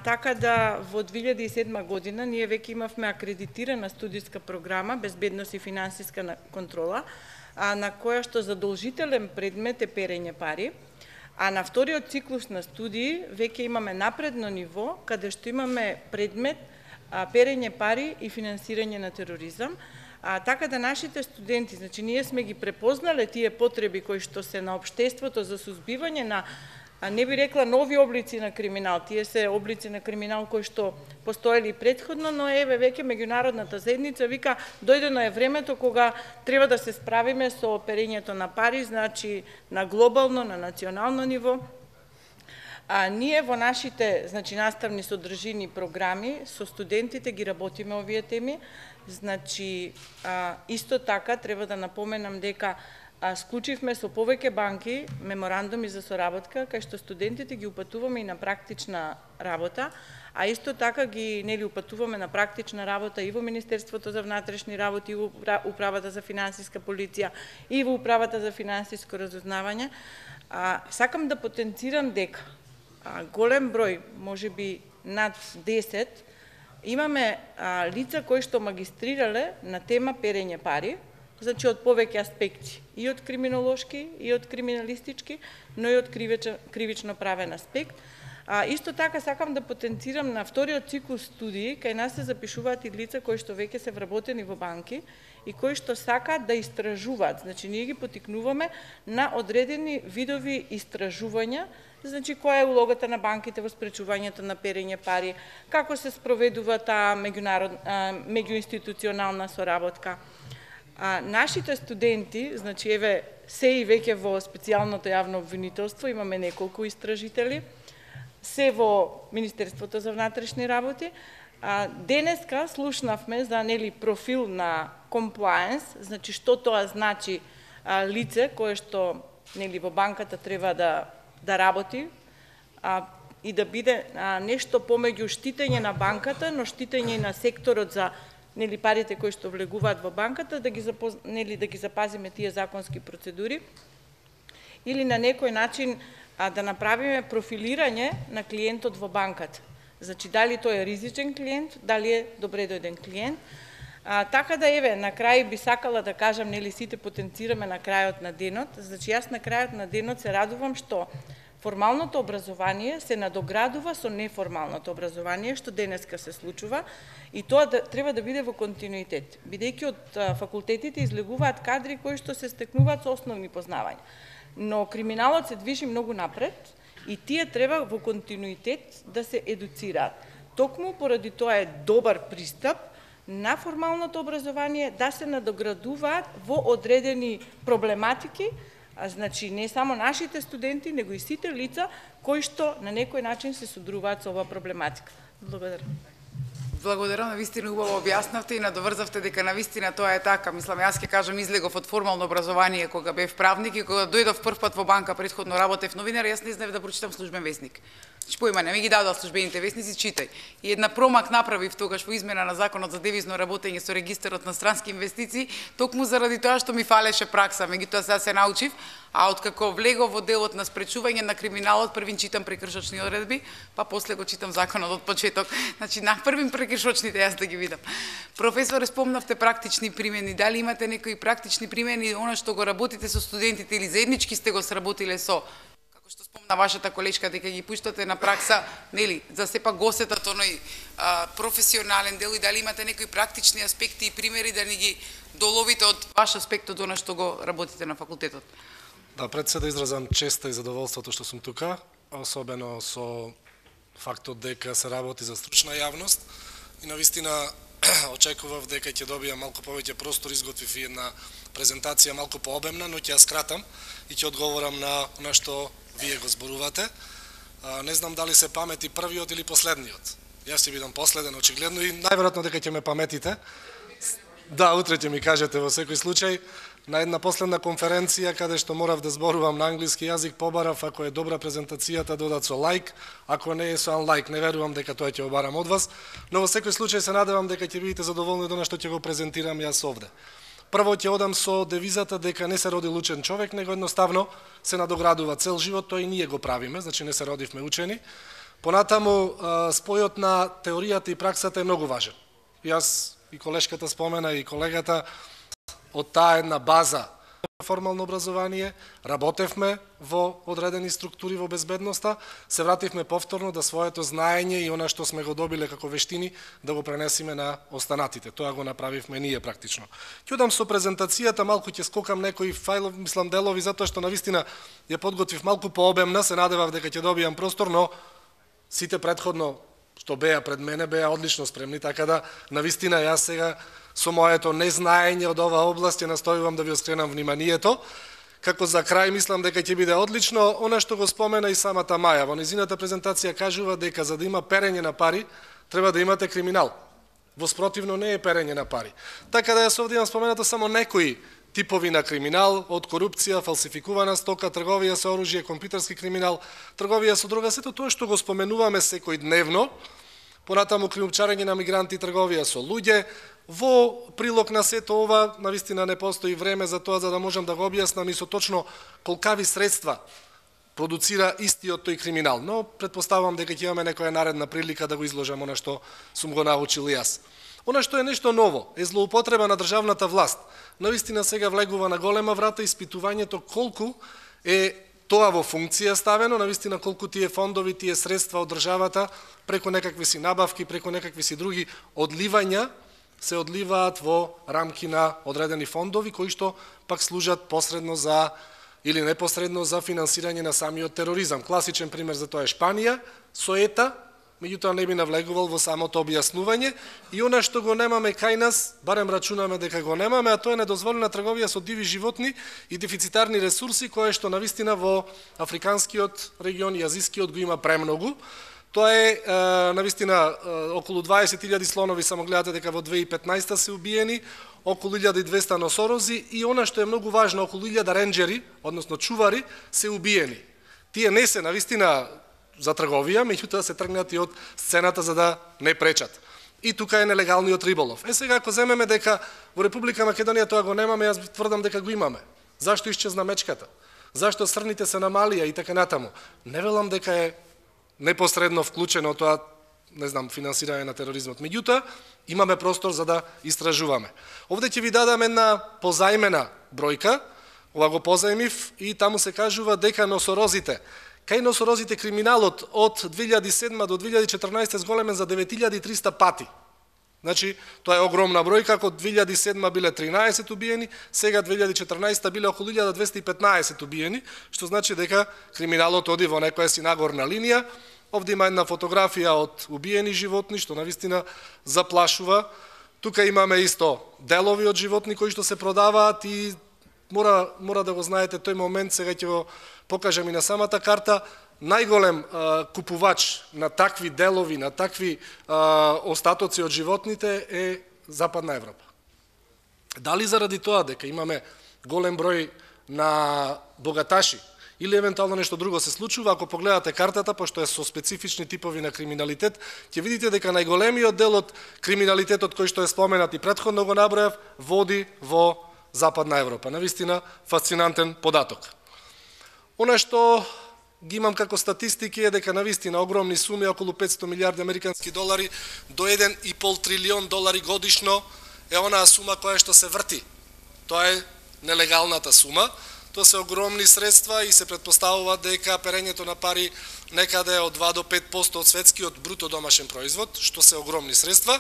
Така да во 2007 година ние веќе имавме акредитирана студиска програма Безбедност и финансиска контрола, на која што задолжителен предмет е перење пари, а на вториот циклус на студии веќе имаме напредно ниво каде што имаме предмет перење пари и финансирање на тероризам. Така да нашите студенти, значи ние сме ги препознале тие потреби кои што се на општеството за сузбивање на не би рекла нови облици на криминал, тие се облици на криминал кои што постоели предходно, но еве веќе меѓународната заедница вика дојдено е времето кога треба да се справиме со перењето на пари, значи на глобално, на национално ниво. Ние во нашите наставни содржини програми со студентите ги работиме овие теми, значи исто така треба да напоменам дека склучивме со повеќе банки меморандуми за соработка, кај што студентите ги упатуваме и на практична работа, а исто така ги упатуваме на практична работа и во Министерството за внатрешни работи, и во Управата за финансиска полиција, и во Управата за финансиско разузнавање. Сакам да потенцирам дека голем број, можеби над 10, имаме лица кои што магистрирале на тема перење пари, значи од повеќе аспекти, и од криминолошки, и од криминалистички, но и од кривично правен аспект. Исто така сакам да потенцирам на вториот циклус студии, кај нас се запишуваат и лица кои што веќе се вработени во банки и кои што сакаат да истражуваат. Значи ние ги потикнуваме на одредени видови истражувања, значи која е улогата на банките во спречувањето на перење пари, како се спроведува таа меѓуинституционална соработка. Нашите студенти, значи еве се и веќе во специјалното јавно обвинителство, имаме неколку истражители, се во Министерството за внатрешни работи. Денеска слушнавме за профил на compliance, значи што тоа значи лице кое што во банката треба да работи и да биде нешто помеѓу штитење на банката, но штитење на секторот за нели парите кои што влегуваат во банката, да ги запазиме тие законски процедури, или на некој начин да направиме профилирање на клиентот во банката. Значи, дали тој е ризичен клиент, дали е добре дојден клиент. Така да, еве, на крај би сакала да кажам, нели сите потенцираме на крајот на денот. Значи, јас на крајот на денот се радувам што формалното образование се надоградува со неформалното образование, што денеска се случува, и тоа треба да биде во континуитет, бидејќи од факултетите излегуваат кадри кои што се стекнуваат со основни познавања. Но криминалот се движи многу напред и тие треба во континуитет да се едуцираат. Токму поради тоа е добар пристап на формалното образование да се надоградуваат во одредени проблематики, значи не само нашите студенти, него и сите лица кои што на некој начин се содруваат со оваа проблематика. Благодарам. Благодарам, навистина убаво објаснавте и надоврзавте дека навистина тоа е така. Мислам, јас ќе кажам, излегов од формално образование кога бев правник и кога дојдов прв пат во банка, претходно работев новинар, јас не знаев да прочитам службен весник. Појма не ми ги дадоа службените весници, читај. И една промак направив тогаш во измена на законот за девизно работење со регистарот на странски инвестиции, токму заради тоа што ми фалеше пракса, меѓутоа сега се научив, а откако влегов во делот на спречување на криминалот, првин читам прекршочни одредби, па после го читам законот од почеток. Значи на првин прекршочните јас да ги видам. Професоре, спомнавте практични примени, дали имате некои практични примени она што го работите со студентите или заеднички сте го сработиле со, што спомна вашата колешка, дека ги пуштате на пракса, нели, за сепак гостетат оној професионален дел, и дали имате некои практични аспекти и примери да ни ги доловите од ваш аспект од она што го работите на факултетот? Да, пред се да изразам честа и задоволството што сум тука, особено со фактот дека се работи за стручна јавност, и навистина очекував дека ќе добијам малку повеќе простор, изготвив и една презентација малку пообемна, но ќе ја скратам и ќе одговорам на што вие го зборувате. Не знам дали се памети првиот или последниот. Јас ќе бидам последен, очигледно, и најверојатно дека ќе ме паметите. Да, утре ќе ми кажете во секој случај. На една последна конференција, каде што морав да зборувам на англиски јазик, побарав, ако е добра презентацијата, додат со лайк, ако не е со unlike, не верувам дека тоа ќе обарам од вас, но во секој случај се надевам дека ќе бидете задоволни од она што ќе го презентирам јас овде. Прво ќе одам со девизата дека не се роди учен човек, него едноставно се надоградува цел живот, тоа и ние го правиме, значи не се родивме учени. Понатаму, спојот на теоријата и праксата е многу важен. Јас и колешката спомена, и колегата, од таа една база формално образование, работевме во одредени структури во безбедноста, се вративме повторно да своето знаење и она што сме го добиле како вештини да го пренесиме на останатите. Тоа го направивме ние практично. Ќе одам со презентацијата, малку ќе скокам некои фајлови, мислам делови, затоа што навистина ја подготвив малку пообемна, се надевав дека ќе добијам простор, но сите претходно што беа пред мене беа одлично спремни, така да навистина јас сега со моето незнаење од оваа област ја настојувам да ви скренам вниманието. Како за крај мислам дека ќе биде одлично она што го спомена и самата Маја. Во незината презентација кажува дека за да има перење на пари, треба да имате криминал. Воспротивно не е перење на пари. Така да јас овде имам споменато само некои типови на криминал, од корупција, фалсификувана стока, трговија со оружје, компјутерски криминал, трговија со дрога, сето тоа што го споменуваме секојдневно, понатаму криумчарење на мигранти, трговија со луѓе. Во прилог на сето ова, навистина не постои време за тоа, за да можам да го објаснам и со точно колкави средства продуцира истиот тој криминал. Но претпоставувам дека ќе имаме некоја наредна прилика да го изложам она што сум го научил јас. Она што е нешто ново е злоупотреба на државната власт. Навистина сега влегува на голема врата испитувањето колку е тоа во функција ставено, навистина колку тие фондови, тие средства од државата преку некакви си набавки, преку некакви си други одливања се одливаат во рамки на одредени фондови кои што пак служат посредно за или непосредно за финансирање на самиот тероризам. Класичен пример за тоа е Шпанија со ЕТА, меѓутоа не би навлегувал во самото објаснување, и она што го немаме кај нас, барем рачунаме дека го немаме, а тоа е недозволена трговија со диви животни и дефицитарни ресурси, кое што навистина во африканскиот регион и азискиот го има премногу. Тоа е навистина околу 20.000 слонови, само гледате дека во 2015 се убиени, околу 1200 носорози и она што е многу важно, околу 1000 ренџери, односно чувари, се убиени. Тие не се навистина за трговија, меѓутоа се тргнати од сцената за да не пречат. И тука е нелегалниот риболов. Сега ако земеме дека во Република Македонија тоа го немаме, јас тврдам дека го имаме. Зашто исчезна мечката? Зашто срните се намалија и така натаму? Не велам дека е непосредно вклучено тоа, не знам, финансирање на тероризмот. Меѓутоа, имаме простор за да истражуваме. Овде ќе ви дадам една позајмена бројка, ова го позајмив и таму се кажува дека носорозите, кај носорозите криминалот од 2007 до 2014 зголемен за 9300 пати. Значи, тоа е огромна бројка, ако 2007 биле 13 убиени, сега 2014 биле околу 1215 убиени, што значи дека криминалот оди во некоја си нагорна линија. Овде има една фотографија од убиени животни, што навистина заплашува. Тука имаме исто делови од животни кои што се продаваат и мора да го знаете тој момент, сега ќе го покажам и на самата карта. Најголем купувач на такви делови, на такви остатоци од животните е Западна Европа. Дали заради тоа дека имаме голем број на богаташи или евентуално нешто друго се случува, ако погледате картата, пошто е со специфични типови на криминалитет, ќе видите дека најголемиот дел од криминалитетот кој што е споменат и претходно го набројав, води во Западна Европа. Навистина фасцинантен податок. Она што ги имам како статистики е дека навистина огромни суми, околу 500 милиарди американски долари до 1,5 трилион долари годишно е онаа сума која што се врти. Тоа е нелегалната сума. Тоа се огромни средства и се претпоставува дека перењето на пари некаде од 2 до 5% од светскиот бруто домашен производ, што се огромни средства.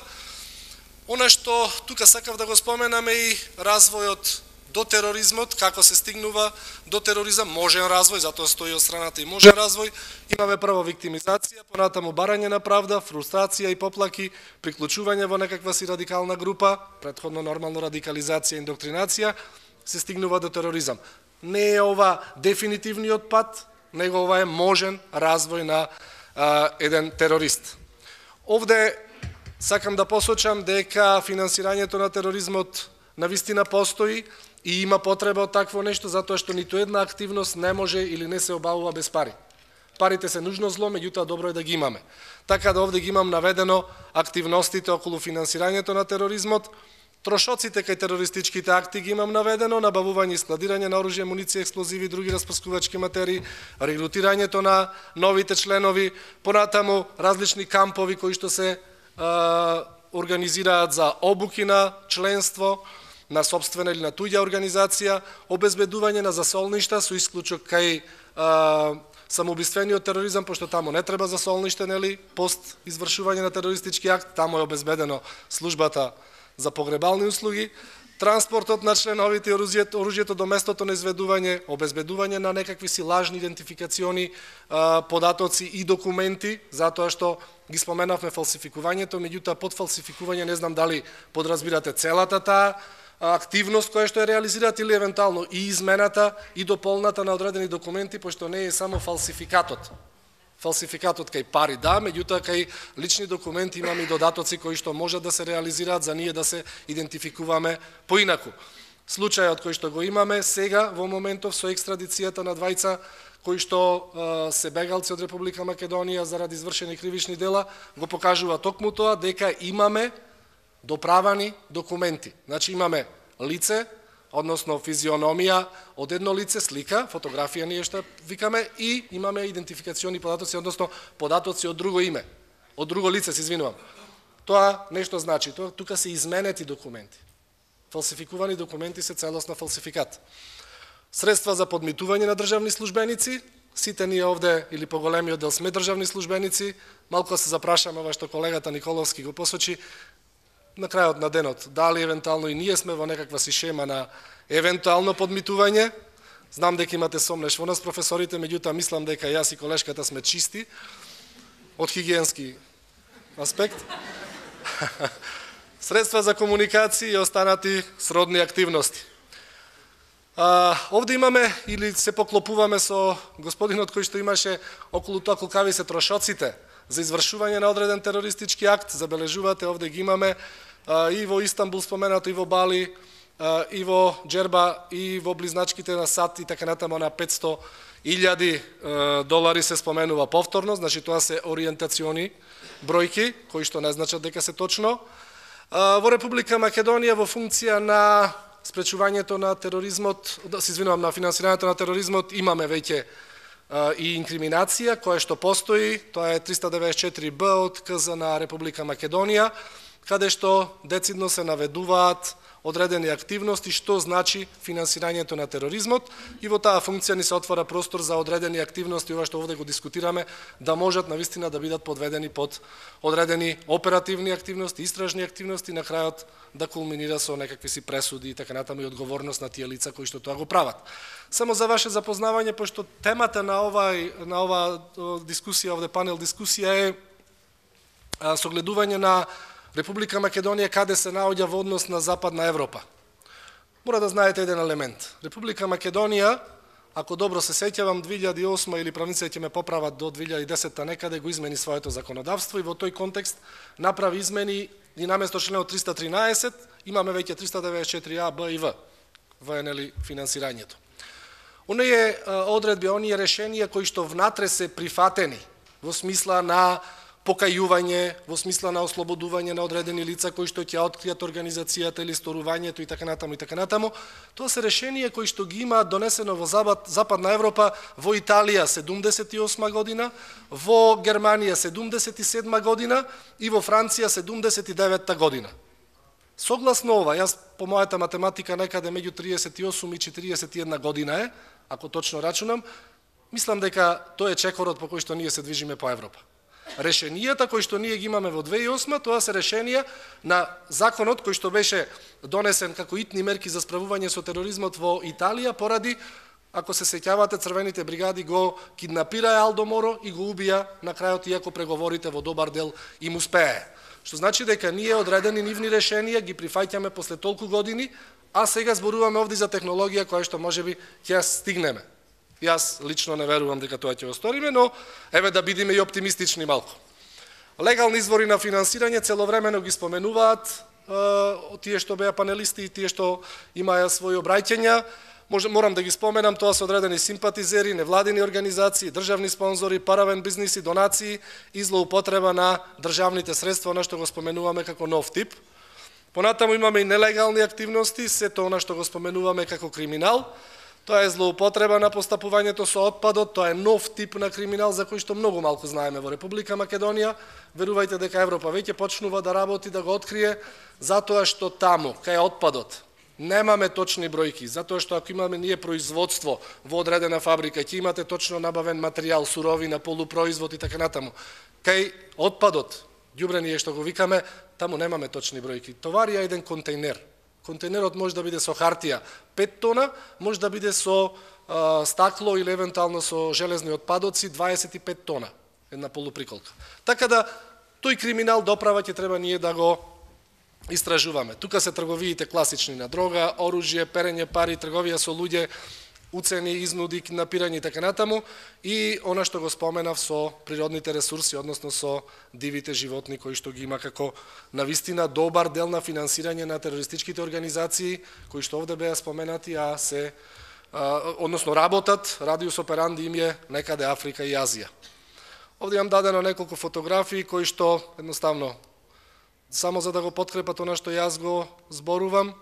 Она што тука сакав да го споменаме и развојот до тероризмот, како се стигнува до тероризам, можен развој, затоа стои од страната и можен развој. Имаме прво виктимизација, понатаму барање на правда, фрустрација и поплаки, приклучување во некаква си радикална група, претходно нормално радикализација и индоктринација, се стигнува до тероризам. Не е ова дефинитивниот пат, него ова е можен развој на еден терорист. Овде сакам да посочам дека финансирањето на тероризмот навистина постои и има потреба од такво нешто, затоа што ниту една активност не може или не се обавува без пари. Парите се нужно зло, меѓутоа добро е да ги имаме. Така да овде ги имам наведено активностите околу финансирањето на тероризмот, трошоците кај терористичките акти ги имам наведено, набавување и складирање на оружје, муниција, експлозиви и други распрскувачки материи, регрутирањето на новите членови, понатаму различни кампови кои што се организираат за обуки на членство, на собствена или на туѓа организација, обезбедување на засолништа со исклучок кај самоубиствениот тероризам, пошто таму не треба засолниште, нели, пост извршување на терористички акт, таму е обезбедено службата за погребални услуги, транспортот на членовите, оружјето до местото на изведување, обезбедување на некакви си лажни идентификациони податоци и документи, затоа што ги споменавме фалсификувањето, меѓутоа под фалсификување не знам дали подразбирате целата таа активност која што е реализираат или евентуално и измената и дополната на одредени документи, пошто не е само фалсификатот. Фалсификатот кај пари да, меѓутоа кај лични документи имаме и додатоци кои што можат да се реализираат за ние да се идентификуваме поинаку. Случајот кој што го имаме сега во моментов со екстрадицијата на двајца кои што се бегалци од Република Македонија заради извршени кривични дела, го покажува токму тоа дека имаме доправани документи. Значи имаме лице, односно физиономија од едно лице, слика, фотографија ние што викаме, и имаме идентификациони податоци, односно податоци од друго име, од друго лице, се извинувам. Тоа нешто значи, тука се изменети документи. Фалсификувани документи се целосно фалсификат. Средства за подмитување на државни службеници, сите ние овде, или поголемиот дел сме државни службеници, малку се запрашаме ова што колегата Николовски го посочи, на крајот на денот, дали евентуално и ние сме во некаква си шема на евентуално подмитување. Знам дека имате сомнеш во нас професорите, меѓутоа мислам дека јас и колешката сме чисти од хигиенски аспект. Средства за комуникација и останати сродни активности. Овде имаме, или се поклопуваме со господинот кој што имаше околу тоа колкави се трошоците за извршување на одреден терористички акт. Забележувате, овде ги имаме и во Истанбул споменато, и во Бали, и во Джерба и во близначките на САД и така натаму на $500,000 се споменува повторно, значи тоа се ориентациони бројки кои што не значат дека се точно. Во Република Македонија во функција на спречувањето на тероризмот, на финансирањето на тероризмот имаме веќе и инкриминација која што постои, тоа е 394Б од КЗ на Република Македонија, каде што децидно се наведуваат одредени активности, што значи финансирањето на тероризмот, и во таа функција ни се отвора простор за одредени активности, ова што овде го дискутираме, да можат навистина да бидат подведени под одредени оперативни активности, истражни активности, на крајот да кулминира со некакви си пресуди и така натаму и одговорност на тие лица кои што тоа го прават. Само за ваше запознавање, пошто темата на ова дискусија, овде панел дискусија е согледување на Република Македонија каде се наоѓа во однос на Западна Европа. Мора да знаете еден елемент. Република Македонија, ако добро се сеќавам, 2008 или правниците ќе ме поправат до 2010 некаде го измени своето законодавство и во тој контекст направи измени и наместо членот 313 имаме веќе 394А, Б и В во финансирањето. Оние одредби, оние решенија кои што внатре се прифатени во смисла на покајување, во смисла на ослободување на одредени лица кои што ќе откријат организацијата или сторувањето и така натаму, тоа се решенија кои што ги има донесено во Западна Европа, во Италија 78 година, во Германија 77 година и во Франција 79 година. Согласно ова, јас по мојата математика некаде меѓу 38 и 41 година е, ако точно рачунам, мислам дека тој е чекорот по кој што ние се движиме по Европа. Решенијата кои што ние ги имаме во 2008, тоа се решенија на законот кој што беше донесен како итни мерки за справување со тероризмот во Италија поради, ако се сеќавате, црвените бригади го киднапираа Алдо Моро и го убија на крајот, иако преговорите во добар дел им успее. Што значи дека ние одредени нивни решенија ги прифаќаме после толку години, а сега зборуваме овде за технологија која што можеби ќе стигнеме. Јас лично не верувам дека тоа ќе осториме, но еве да бидеме и оптимистични малку. Легални извори на финансирање целовремено ги споменуваат тие што беа панелисти и тие што имаја своји обраќања. Морам да ги споменам, тоа се одредени симпатизери, невладини организации, државни спонзори, паравен бизниси, донации и злоупотреба на државните средства, она што го споменуваме како нов тип. Понатаму имаме и нелегални активности, сето она што го споменуваме како криминал. Тоа е злоупотреба на постапувањето со отпадот, тоа е нов тип на криминал за кој што многу малку знаеме во Република Македонија. Верувајте дека Европа веќе почнува да работи, да го открие, затоа што таму, кај отпадот, немаме точни бројки, затоа што ако имаме ние производство во одредена фабрика, ќе имате точно набавен материјал, суровина, полупроизвод и така натаму. Кај отпадот, ѓубрение што го викаме, таму немаме точни бројки. Товарија еден контейнер. Контейнерот може да биде со хартија 5 тона, може да биде со стакло или евентуално со железни отпадоци 25 тона, една полуприколка. Така да, тој криминал доправа ќе треба ние да го истражуваме. Тука се трговиите класични на дрога, оружје, перење пари, трговија со луѓе, уцени, изнуди, киднапирање и така натаму, и она што го споменав со природните ресурси, односно со дивите животни кои што ги има како навистина добар дел на финансирање на терористичките организации кои што овде беа споменати, а се односно работат, радиус операнди им е некаде Африка и Азија. Овде имам дадено неколку фотографии кои што едноставно само за да го подкрепат она што јас го зборувам.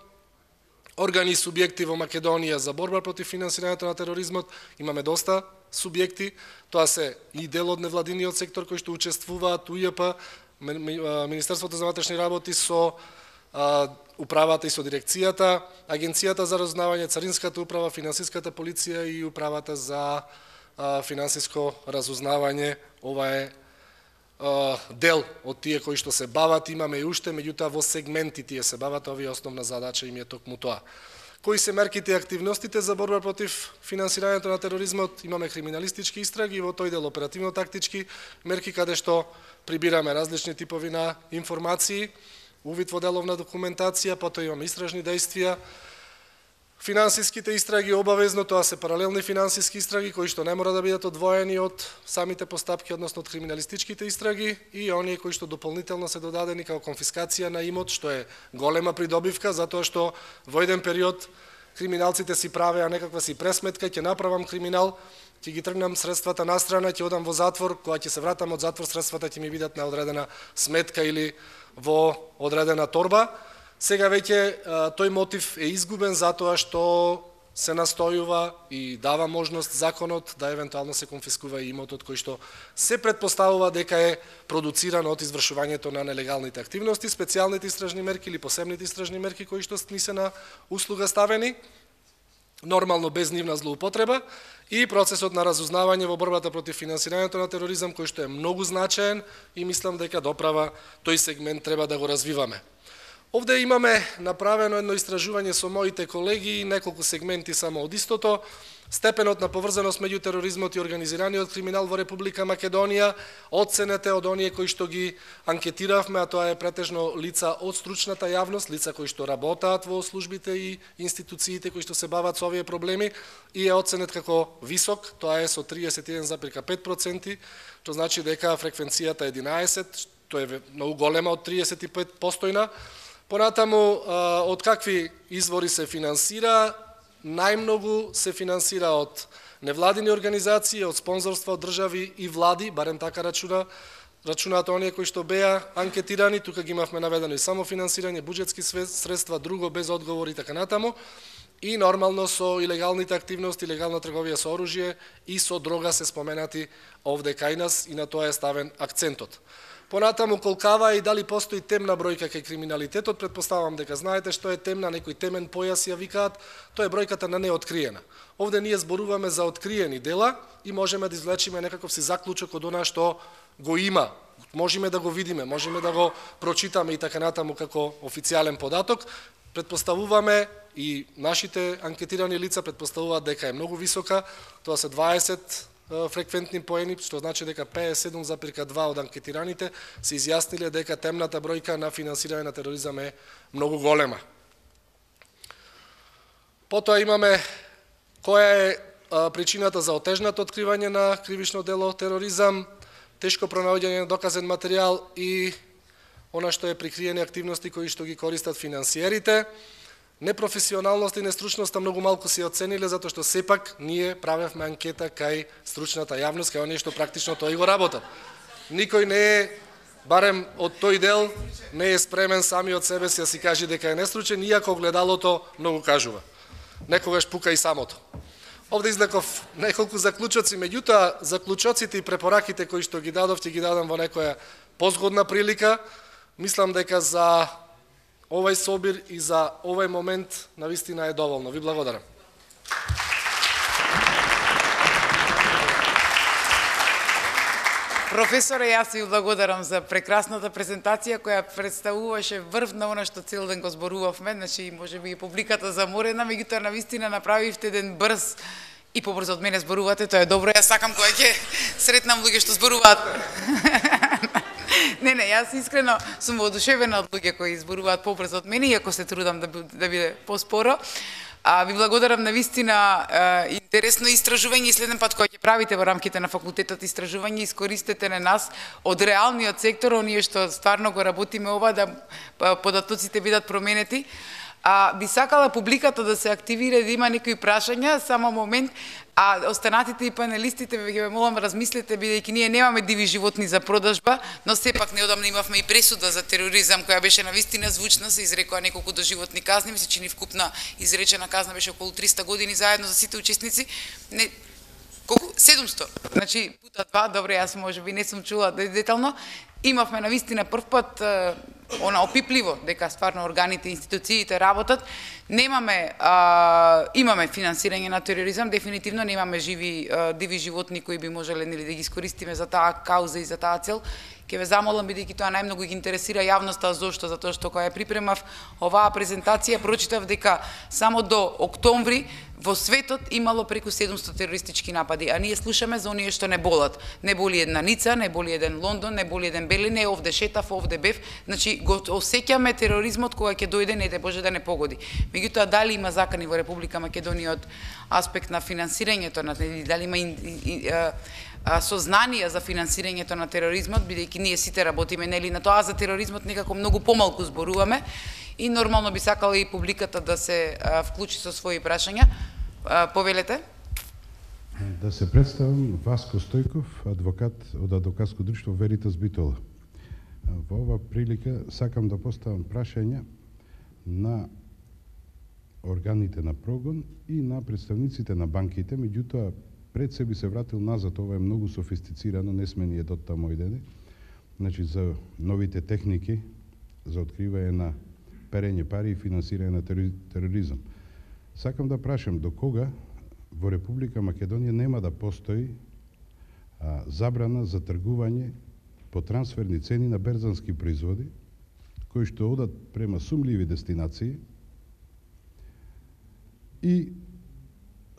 Органи и субјекти во Македонија за борба против финансирањето на тероризмот, имаме доста субјекти, тоа се и дел од невладиниот сектор кои што учествуваат, УЈП, Министерството за внатрешни работи со управата и со дирекцијата, Агенцијата за разузнавање, Царинската управа, Финансиската полиција и управата за финансиско разузнавање. Ова е дел од тие кои што се бават, имаме и уште, меѓутоа во сегменти тие се бават, овие основна задача им е токму тоа. Кои се мерките и активностите за борба против финансирањето на тероризмот? Имаме криминалистички истраги и во тој дел оперативно-тактички мерки каде што прибираме различни типови на информации, увид во деловна документација, потоа имаме истражни дејствија, Финансиските истраги обавезно, тоа се паралелни финансиски истраги кои што не мора да бидат одвоени од самите постапки, односно од криминалистичките истраги, и оние кои што дополнително се додадени како конфискација на имот, што е голема придобивка, затоа што во еден период криминалците си правеа некаква си пресметка, ќе направам криминал, ќе ги тргнам средствата на страна, ќе одам во затвор, кога ќе се вратам од затвор, средствата ќе ми бидат на одредена сметка или во одредена торба. Сега веќе тој мотив е изгубен затоа што се настојува и дава можност законот да евентуално се конфискува и имотот кој што се претпоставува дека е продуциран од извршувањето на нелегалните активности, специјалните истражни мерки или посебните истражни мерки кои што ни се на услуга ставени, нормално без нивна злоупотреба, и процесот на разузнавање во борбата против финансирањето на тероризам кој што е многу значаен и мислам дека доправа тој сегмент треба да го развиваме. Овде имаме направено едно истражување со моите колеги, неколку сегменти само од истото. Степенот на поврзаност меѓу тероризмот и организираниот криминал во Република Македонија, оценете од оние кои што ги анкетиравме, а тоа е претежно лица од стручната јавност, лица кои што работаат во службите и институциите кои што се бават со овие проблеми, и е оценет како висок, тоа е со 31,5%, што значи дека фреквенцијата е 11, тоа е многу голема од 35%. Понатаму, од какви извори се финансира? Најмногу се финансира од невладини организации, од спонзорства од држави и влади, барем така рачунаат оние кои што беа анкетирани. Тука ги имавме наведено и само финансирање, буџетски средства, друго без одговор и така натаму. И нормално со илегалните активности, илегална трговија со оружје и со дрога се споменати овде кај нас, и на тоа е ставен акцентот. Понатаму колкава и дали постои темна бројка кај криминалитетот, предпоставам дека знаете што е темна, некој темен појас ја викаат, тоа е бројката на неоткриена. Овде ние зборуваме за откриени дела и можеме да извлечиме некаков си заклучок од она што го има. Можеме да го видиме, можеме да го прочитаме и така натаму како официјален податок. Предпоставуваме и нашите анкетирани лица предпоставуваат дека е многу висока, тоа се 20 фреквентни поени, што значи дека 57,2 од анкетираните се изјасниле дека темната бројка на финансирање на тероризам е многу голема. Потоа имаме која е причината за отежнато откривање на кривично дело тероризам, тешко пронаоѓање на доказен материјал и она што е прикриени активности кои што ги користат финансиерите. Непрофесионалност и нестручноста многу малку се оцениле, затоа што сепак ние правевме анкета кај стручната јавност, кај оние што практично тој го работат. Никој не е, барем од тој дел, не е спремен сами од себе си да си каже дека е нестручен, иако огледалото многу кажува. Некогаш пука и самото. Овде излеков неколку заклучоци, меѓутоа заклучоците и препораките кои што ги дадов, ќе ги дадам во некоја позгодна прилика. Мислам дека за овај собир и за овај момент навистина е доволно. Ви благодарам. Професоре, јас ви благодарам за прекрасната презентација која представуваше врв на она што цел ден го зборувавме, значи можеби и публиката заморена, меѓутоа навистина направивте еден брз и побрзо од мене зборувате, тоа е добро. Јас сакам кога ќе сретнам луѓе што зборуваат. Не, јас искрено сум воодушевена од луѓе кои зборуваат побрзо од мене, иако се трудам да биде поспоро. Ви благодарам навистина интересно истражување и следен пат кога ќе правите во рамките на факултетот истражување, искористете на нас од реалниот сектор, оние што стварно го работиме ова, да податоците бидат променети. Би сакала публиката да се активира, да има некои прашања, само момент, а останатите и панелистите ве молам размислете, бидејќи ние немаме диви животни за продажба, но сепак неодамна имавме и пресуда за тероризам која беше навистина звучна, се изрекоа неколку доживотни казни, ми се чини вкупна изречена казна беше околу 300 години заедно за сите учесници. Не, колку? 700. Значи пута 2, добре, јас можеби не сум чула детално. Имавме навистина прв пат она опипливо дека стварно органите и институциите работат. Немаме имаме финансирање на тероризам, дефинитивно немаме диви животни кои би можеле нели да ги искористиме за таа кауза и за таа цел. Ќе ве замолам, бидејќи тоа најмногу ги интересира јавноста, зошто? Затоа што кога ја припремав оваа презентација, прочитав дека само до октомври во светот имало преку 700 терористички напади, а ние слушаме за оние што не болат. Не боли една Ница, не боли еден Лондон, не боли еден Берлин, не овде шетав, овде бев. Значи го осеќаме тероризмот кога ќе дојде, не дај Боже да не погоди. Меѓутоа, дали има закани во Република Македонија од аспект на финансирањето, дали има сознание за финансирањето на тероризмот, бидејќи ние сите работиме нели на тоа, за тероризмот некако многу помалку зборуваме и нормално би сакала и публиката да се вклучи со своји прашања. Повелете. Да се представам, Васко Стојков, адвокат од адвокатско друштво Веритас Битола. Во ова прилика сакам да поставам прашања на органите на прогон и на представниците на банките, меѓутоа пред се би се вратил назад, ова е многу софистицирано, не сме ние до таму ојдени. Значи за новите техники за откривање на перење пари и финансирање на тероризам. Сакам да прашам до кога во Република Македонија нема да постои забрана за тргување по трансферни цени на берзански производи кои што одат према сумливи дестинации и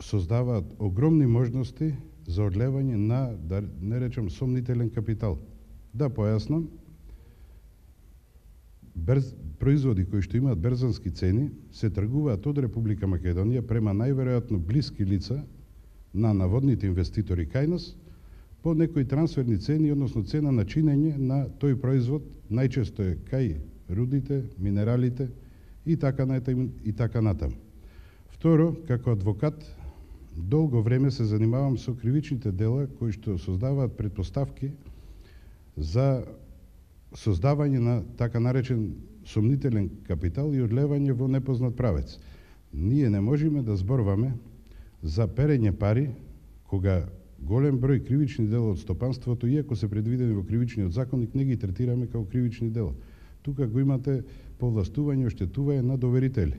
создаваат огромни можности за одлевање на, да не речам, сомнителен капитал. Да појаснам, производи кои што имаат берзански цени се тргуваат од Република Македонија према најверојатно блиски лица на наводните инвеститори кај нас по некои трансферни цени, односно цена на чинење на тој производ, најчесто е кај рудите, минералите и така натаму. Второ, како адвокат, долго време се занимавам со кривичните дела кои што создаваат предпоставки за создавање на така наречен сомнителен капитал и одлевање во непознат правец. Ние не можеме да зборваме за перење пари кога голем број кривични дела од стопанството, иако се предвидени во кривичниот законник, не ги третираме како кривични дела. Тука го имате повластување, оштетување на доверители.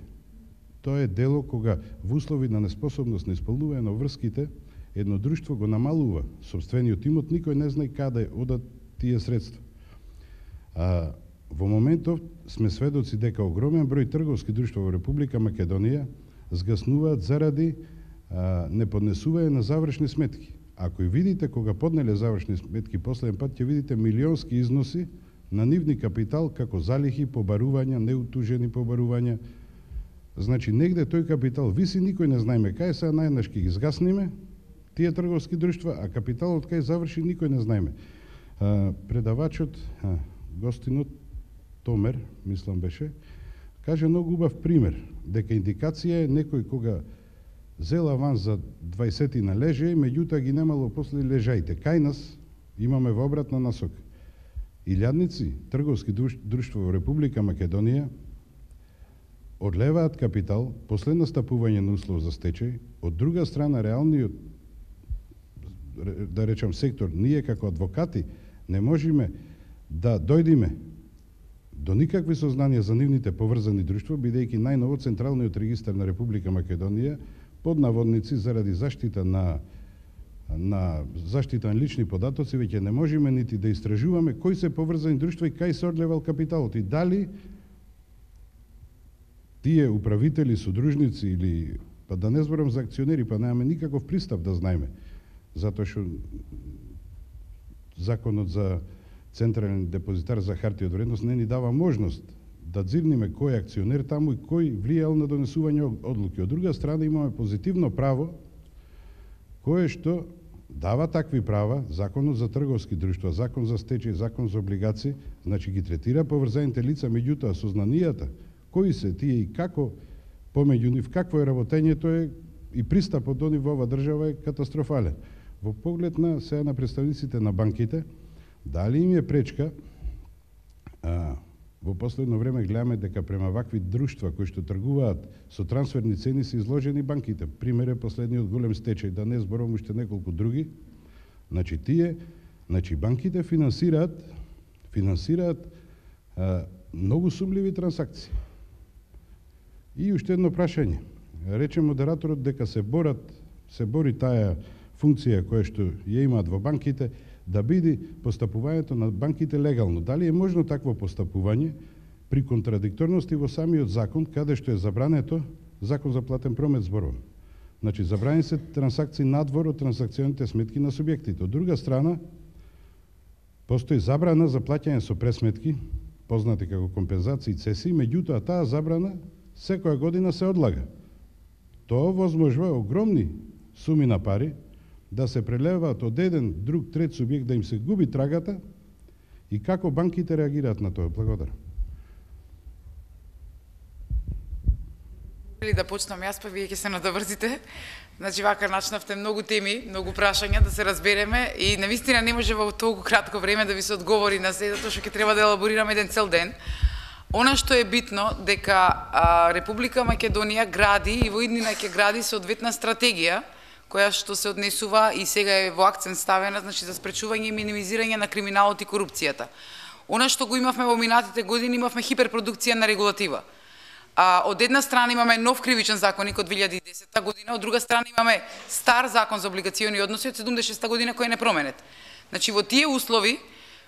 Тоа е дело кога во услови на неспособност на исполнување на врските, едно друштво го намалува сопствениот имот, никој не знае каде одат тие средства. Во моментов сме сведоци дека огромен број трговски друштва во Република Македонија згаснуваат заради неподнесување на завршни сметки. Ако и видите кога поднеле завршни сметки последен пат, ќе видите милионски износи на нивни капитал како залихи, побарувања, неутужени побарувања. Значи, негде тој капитал виси, никој не знаеме кај, сега наједнаш ќе ги згасниме тие трговски друштва, а капиталот кај заврши, никој не знаеме. Предавачот, гостинот, Томер, мислам беше, каже многу убав пример, дека индикација е некој кога зел аванс за 20 на леже, меѓутоа ги немало после лежаите. Кај нас имаме во обратна насока. Илјадници трговски друштва во Република Македонија одлеваат капитал после настапување на услов за стечај, од друга страна реалниот, да речам, сектор, ние како адвокати не можеме да дојдеме до никакви сознанија за нивните поврзани друштва, бидејќи најново Централниот регистар на Република Македонија под наводници заради заштита на лични податоци веќе не можеме нити да истражуваме кои се поврзани друштва и кај се одлевал капиталот и дали тие управители, содружници или, па да не зборам за акционери, па немаме никаков пристап да знаеме, затоа што законот за Централен депозитар за хартија од вредност не ни дава можност да дзирниме кој е акционер таму и кој влијал на донесување одлуки. Од друга страна имаме позитивно право кое што дава такви права, законот за трговски друштва, закон за стечај, закон за облигации, значи ги третира поврзаните лица, меѓутоа сознанијата кои се тие и како помеѓу нив, какво е работењето е и пристапот до нив во ова држава е катастрофален. Во поглед на сега на представниците на банките, дали им е пречка, во последно време гледаме дека према вакви друштва кои што тргуваат со трансферни цени се изложени банките. Пример е последниот голем стечај, да не зборувам уште неколку други. Значи банките финансираат многу сумливи трансакции. И уште едно прашање. Рече модераторот дека се бори таа функција која што ја имаат во банките, да биде постапувањето на банките легално. Дали е можно такво постапување при контрадикторности во самиот закон, каде што е забрането закон за платен промет зборувам. Значи, забрани се трансакции надвор од трансакционите сметки на субјектите. Од друга страна, постои забрана за плаќање со пресметки, познати како компензации и цесии, меѓутоа таа забрана секоја година се одлага. Тоа возможува огромни суми на пари да се прелеваат од еден, друг, трет субјект, да им се губи трагата и како банките реагираат на тоа. Благодарам. Да почнам јас, па вие ќе се надоврзите. Значи, вака начнавте многу теми, многу прашања да се разбереме и навистина не може во толку кратко време да ви се одговори на се, затоа што ќе треба да елаборираме еден цел ден. Она што е битно, дека Република Македонија гради и во иднина ќе гради соодветна стратегија, која што се однесува и сега е во акцент ставена, значи за спречување и минимизирање на криминалот и корупцијата. Она што го имавме во минатите години, имавме хиперпродукција на регулатива. Од една страна имаме нов кривичен законник од 2010 година, од друга страна имаме стар закон за облигациони односи од 76 година кој е непроменет. Значи во тие услови,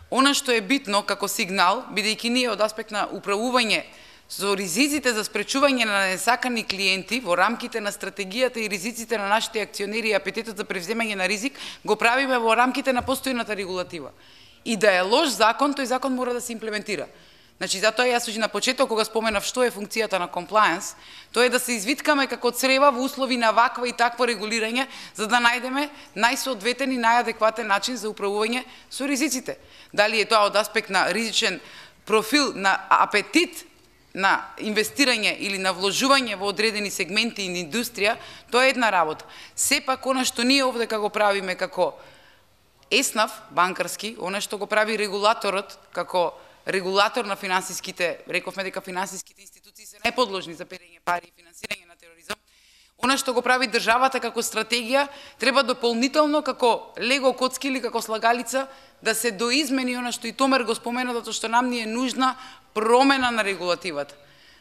она што е битно како сигнал, бидејќи ние од аспект на управување со ризиците за спречување на несакани клиенти во рамките на стратегијата и ризиците на нашите акционери и апетитот за превземање на ризик, го правиме во рамките на постојната регулатива. И да е лош закон, тој закон мора да се имплементира. Значи, затоа јас уште на почеток, кога споменав што е функцијата на комплаенс, тоа е да се извиткаме како црева во услови на ваква и такво регулирање, за да најдеме најсоодветен и најадекватен начин за управување со ризиците. Дали е тоа од аспект на ризичен профил, на апетит на инвестирање или на вложување во одредени сегменти и индустрија, тоа е една работа. Сепак, она што ние овде го правиме како ЕСНАФ, банкарски, она што го прави регулаторот како регулатор на финансиските, рековме дека финансиските институции се неподложни за перење пари и финансирање на тероризам. Она што го прави државата како стратегија, треба дополнително како лего коцки или како слагалица да се доизмени она што и Томер го спомена, затоа што нам ни е нужна промена на регулативата.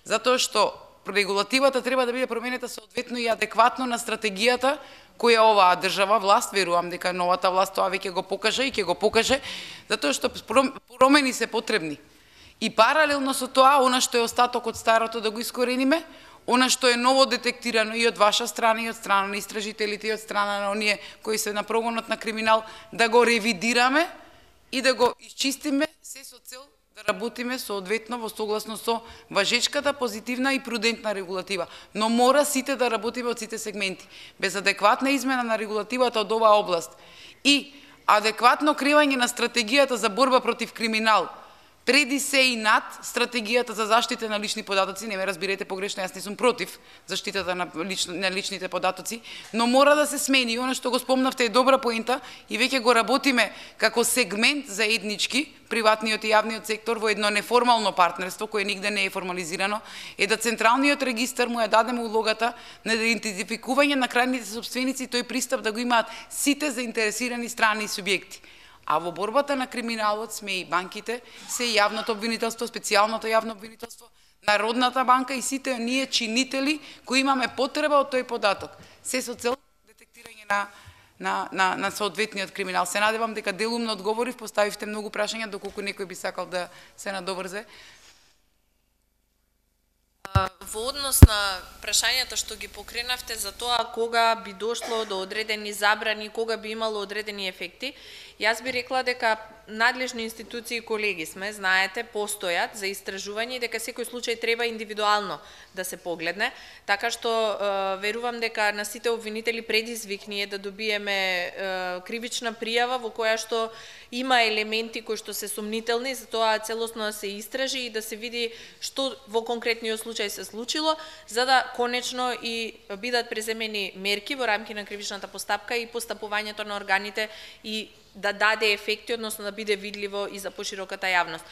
Затоа што регулативата треба да биде променета соодветно и адекватно на стратегијата која оваа држава власт, верувам дека новата власт тоа веќе го покаже и ќе го покаже, затоа што промени се потребни. И паралелно со тоа, она што е остаток од старото да го искорениме, она што е ново детектирано и од ваша страна, и од страна на истражителите, и од страна на оние кои се на прогонот на криминал, да го ревидираме и да го исчистиме, се со цел да работиме соодветно во согласно со важечката, позитивна и прудентна регулатива. Но мора сите да работиме од сите сегменти. Без адекватна измена на регулативата од оваа област и адекватно креање на стратегијата за борба против криминал, преди се и над стратегијата за заштита на лични податоци, не ме разбирате погрешно, јас не сум против заштитата на личните податоци, но мора да се смени. И она што го спомнавте е добра поента и веќе го работиме како сегмент заеднички, приватниот и јавниот сектор во едно неформално партнерство, кое нигде не е формализирано, е да централниот регистар му ја дадеме улогата на идентификување на крајните собственици, тој пристап да го имаат сите заинтересирани страни и субјекти. А во борбата на криминалот сме и банките, се и јавното обвинителство, специјалното јавно обвинителство, Народната банка и сите ние чинители кои имаме потреба од тој податок. Се со цел детектирање на соодветниот криминал. Се надевам дека делумно одговорив, поставивте многу прашања, доколку некој би сакал да се надоврзе. Во однос на прашањата што ги покренавте за тоа кога би дошло до одредени забрани, кога би имало одредени ефекти, јас би рекла дека надлежни институции и колеги сме, знаете, постојат за истражување и дека секој случај треба индивидуално да се погледне, така што верувам дека на сите обвинители предизвик ние да добиеме кривична пријава во која што има елементи кои што се сумнителни, за тоа целосно да се истражи и да се види што во конкретниот случај се случило, за да конечно и бидат преземени мерки во рамки на кривичната постапка и постапувањето на органите и да даде ефекти, односно да биде видливо и за пошироката јавност.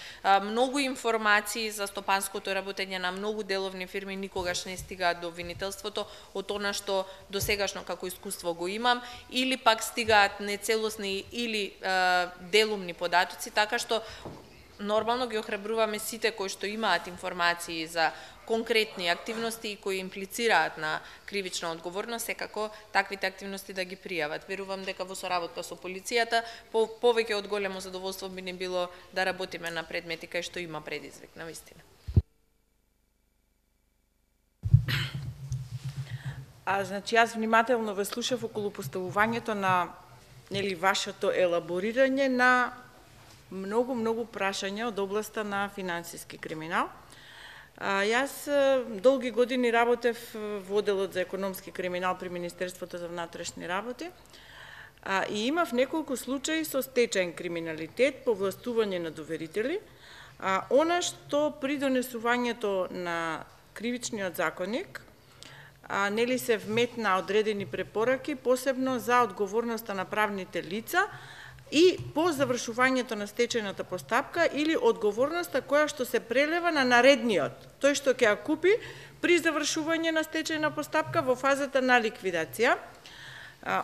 Многу информации за стопанското работење на многу деловни фирми никогаш не стигаат до обвинителството од она што досегашно како искуство го имам, или пак стигаат нецелосни или делумни податоци, така што нормално ги охрабруваме сите кои што имаат информации за конкретни активности кои имплицираат на кривична одговорност, секако таквите активности да ги пријават. Верувам дека во соработка со полицијата повеќе од големо задоволство би не било да работиме на предмети кај што има предизвик, навистина. Значи, јас внимателно ве слушав околу поставувањето на вашето елаборирање на многу прашања од областа на финансиски криминал. Јас долги години работев во одделот за економски криминал при Министерството за внатрешни работи и имав неколку случаи со стечаен криминалитет, повластување на доверители, она што при донесувањето на кривичниот законник се вметна одредени препораки, посебно за одговорноста на правните лица и по завршувањето на стечајната постапка или одговорноста која што се прелева на наредниот, тој што ќе ја купи при завршување на стечајна постапка во фазата на ликвидација.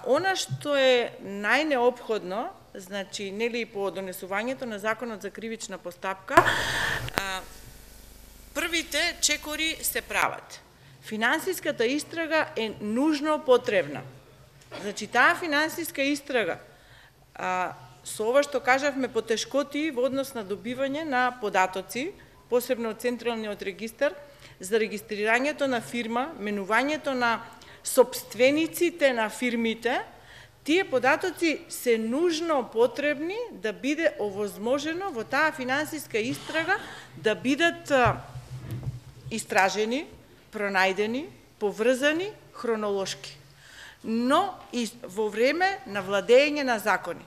Она што е најнеопходно, значи, по донесувањето на Законот за кривична постапка, првите чекори се прават. Финансиската истрага е нужно потребна. Значи, таа финансиска истрага, со ова што кажавме потешкоти во однос на добивање на податоци, посебно од Централниот регистар, за регистрирањето на фирма, менувањето на сопствениците на фирмите, тие податоци се нужно потребни да биде овозможено во таа финансиска истрага да бидат истражени, пронајдени, поврзани хронолошки, но и во време на владење на закони.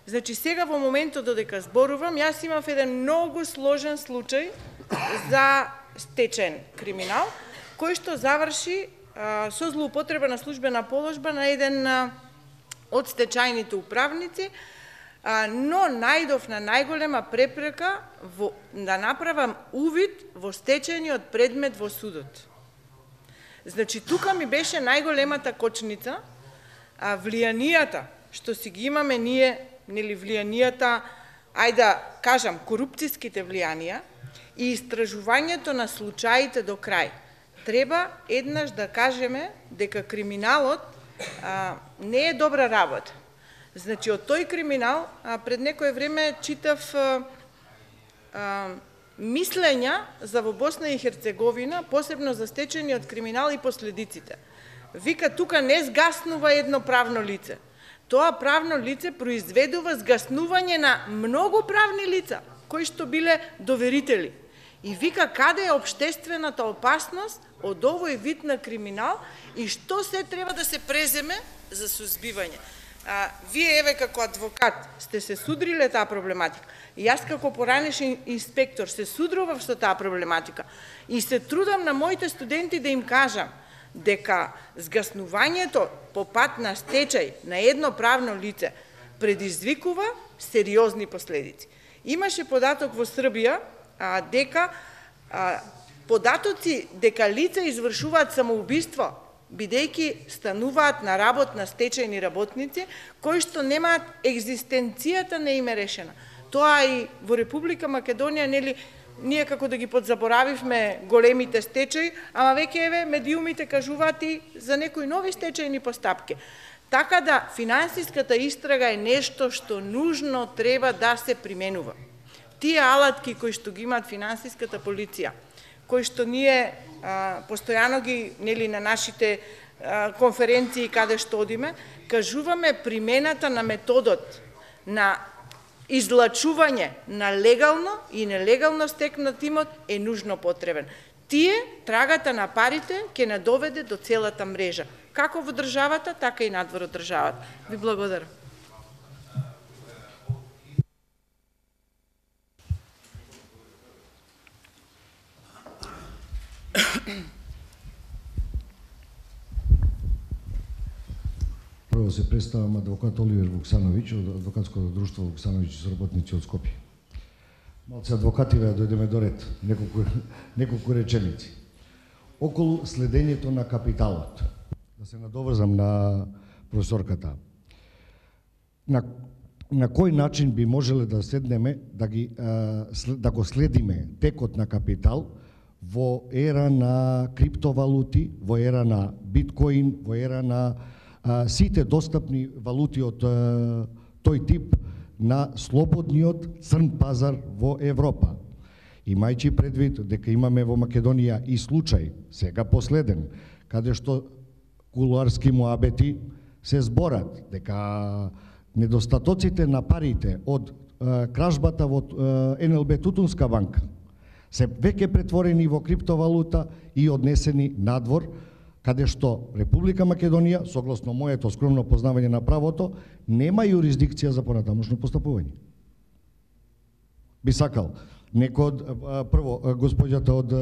Значи, сега во моментот додека зборувам, јас имав еден многу сложен случај за стечен криминал, кој што заврши со злоупотреба на службена положба на еден од стечајните управници, но најдов на најголема препрека да направам увид во стечајниот предмет во судот. Значи, тука ми беше најголемата кочница, влијанијата, што си ги имаме ние, влијанијата, ајде да кажам, корупцијските влијанија и истражувањето на случаите до крај. Треба еднаш да кажеме дека криминалот не е добра работа. Значи, од тој криминал, пред некое време читав мислења за во Босна и Херцеговина, посебно за стечениот криминал и последиците. Вика, тука не сгаснува едно правно лице. Тоа правно лице произведува сгаснување на многу правни лица, кои што биле доверители. И вика, каде е општествената опасност од овој вид на криминал и што се треба да се преземе за сузбивање. Вие, еве, како адвокат, сте се судриле таа проблематика. И јас како поранешен инспектор се судрував со таа проблематика. И се трудам на моите студенти да им кажам дека сгаснувањето по пат на стечај на едно правно лице предизвикува сериозни последици. Имаше податок во Србија дека податоци дека лица извршуваат самоубиство, бидејќи стануваат на работ на стечајни работници, кои што немаат екзистенцијата не им е решена. Тоа и во Република Македонија, ние како да ги подзаборавивме големите стечаи, ама веќе еве медиумите кажуваат и за некои нови стечајни постапки. Така да финансиската истрага е нешто што нужно треба да се применува. Тие алатки кои што ги имаат финансиската полиција, кои што ние постојано ги на нашите конференции каде што одиме, кажуваме примената на методот на излачување на легално и нелегално стекнат имот е нужно потребен. Тие, трагата на парите, ќе не доведе до целата мрежа, како во државата, така и надвор од државата. Ви благодарам. Прво се представам адвокат Оливер Вуксановиќ од адвокатското друштво Вуксановиќ и соработници од Скопје. Малце адвокати да дојдеме до ред, неколку реченици. Околу следењето на капиталот. Да се надоврзам на професорката. на кој начин би можеле да седнеме да го следиме текот на капитал во ера на криптовалути, во ера на биткоин, во ера на сите достапни валути од тој тип на слободниот црн пазар во Европа. Имајќи предвид дека имаме во Македонија и случај, сега последен, каде што кулуарски муабети се зборат дека недостатоците на парите од кражбата во НЛБ Тутунска банка се веќе претворени во криптовалута и однесени надвор, каде што Република Македонија, согласно моето скромно познавање на правото, нема юрисдикција за понатамошно постапување. Би сакал некој од прво госпоѓата од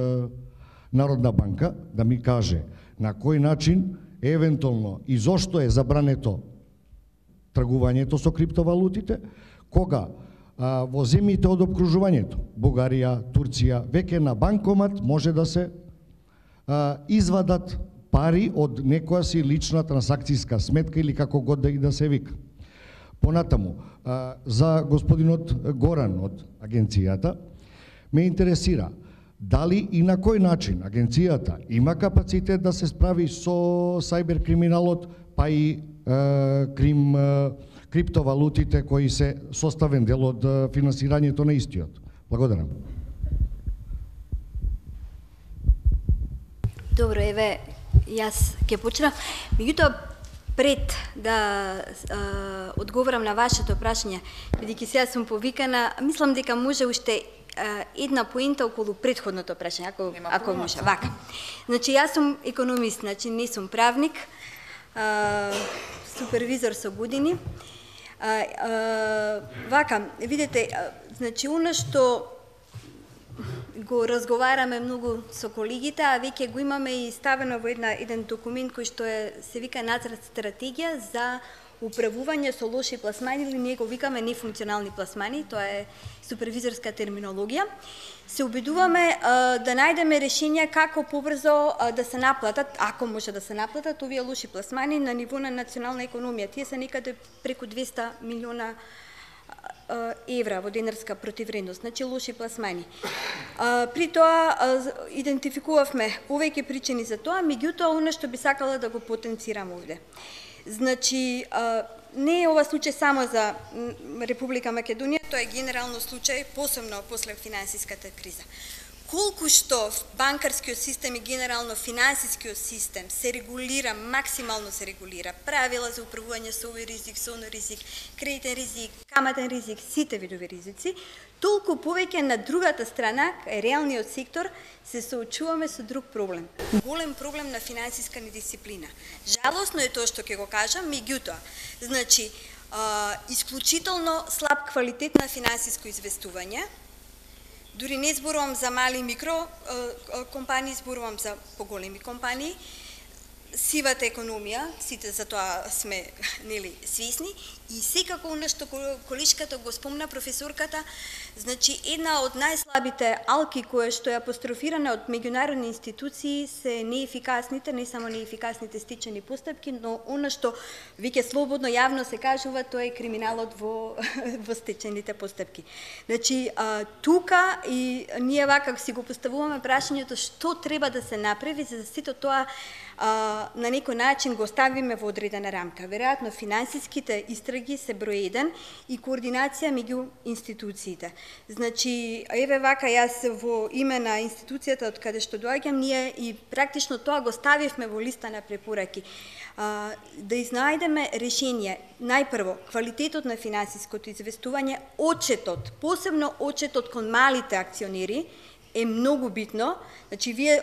Народна банка да ми каже на кој начин евентуално и зошто е забрането тргувањето со криптовалутите, кога во земјите од обкружувањето, Бугарија, Турција, веќе на банкомат може да се извадат пари од некоја си лична трансакцијска сметка или како год да се вика. Понатаму, за господинот Горан од агенцијата, ме интересира дали и на кој начин агенцијата има капацитет да се справи со сајбер криминалот, па и криптовалутите кои се составен дел од финансирањето на истиот. Благодарам. Добро, еве, јас ќе почнам. Меѓутоа, пред да одговорам на вашето прашање, бидејќи сега сум повикана, мислам дека може уште една поинта околу претходното прашање, ако може. Вака. Значи, јас сум економист, значи не сум правник, супервизор со години. Вака, видите, значи, оно што го разговараме многу со колегите, а веќе го имаме и ставено во еден документ кој што се вика нацрт стратегија за управување со лоши пласмани, или ние го викаме нефункционални пласмани, тоа е супервизорска терминологија. Се обидуваме да најдеме решенија како побрзо да се наплатат, ако може да се наплатат, овие лоши пласмани на ниво на национална економија. Тие се некаде преку 200 милиона евра во денарска противвредност, значи лоши пласмани. При тоа идентификувавме повеќе причини за тоа, меѓутоа оно што би сакала да го потенцирам овде. Значи, не е ова случај само за Република Македонија, тоа е генерално случај, посебно после финансиската криза. Колку што банкарскиот систем и генерално финансискиот систем се регулира, максимално се регулира, правила за управување со овој ризик, со оној ризик, кредитен ризик, каматен ризик, сите видови ризици, толку повеќе на другата страна, реалниот сектор, се соочуваме со друг проблем. Голем проблем на финансиска недисциплина. Жалосно е тоа што ќе го кажам, меѓутоа, значи, исклучително слаб квалитет на финансиско известување. Дури не зборувам за мали и микро компании, зборувам за поголеми компании. Сивата економија, сите за тоа сме свесни, и секако оно што колешката го спомна професорката, значи една од најслабите алки која што е апострофирана од меѓународни институции се неефикасните, не само неефикасните стичени постапки, но оно што веќе слободно јавно се кажува, тоа е криминалот во стечените постапки. Значи, тука и ние вака си го поставуваме прашањето што треба да се направи за да сето тоа на некој начин го ставиме во одредена рамка. Веројатно финансиските истраги се број 1 и координација меѓу институциите. Значи, еве вака јас во име на институцијата од каде што доаѓам, ние и практично тоа го ставивме во листа на препораки. Да изнајдеме решение. Најпрво, квалитетот на финансиското известување, отчетот, посебно отчетот кон малите акционери, е многу битно. Значи, вие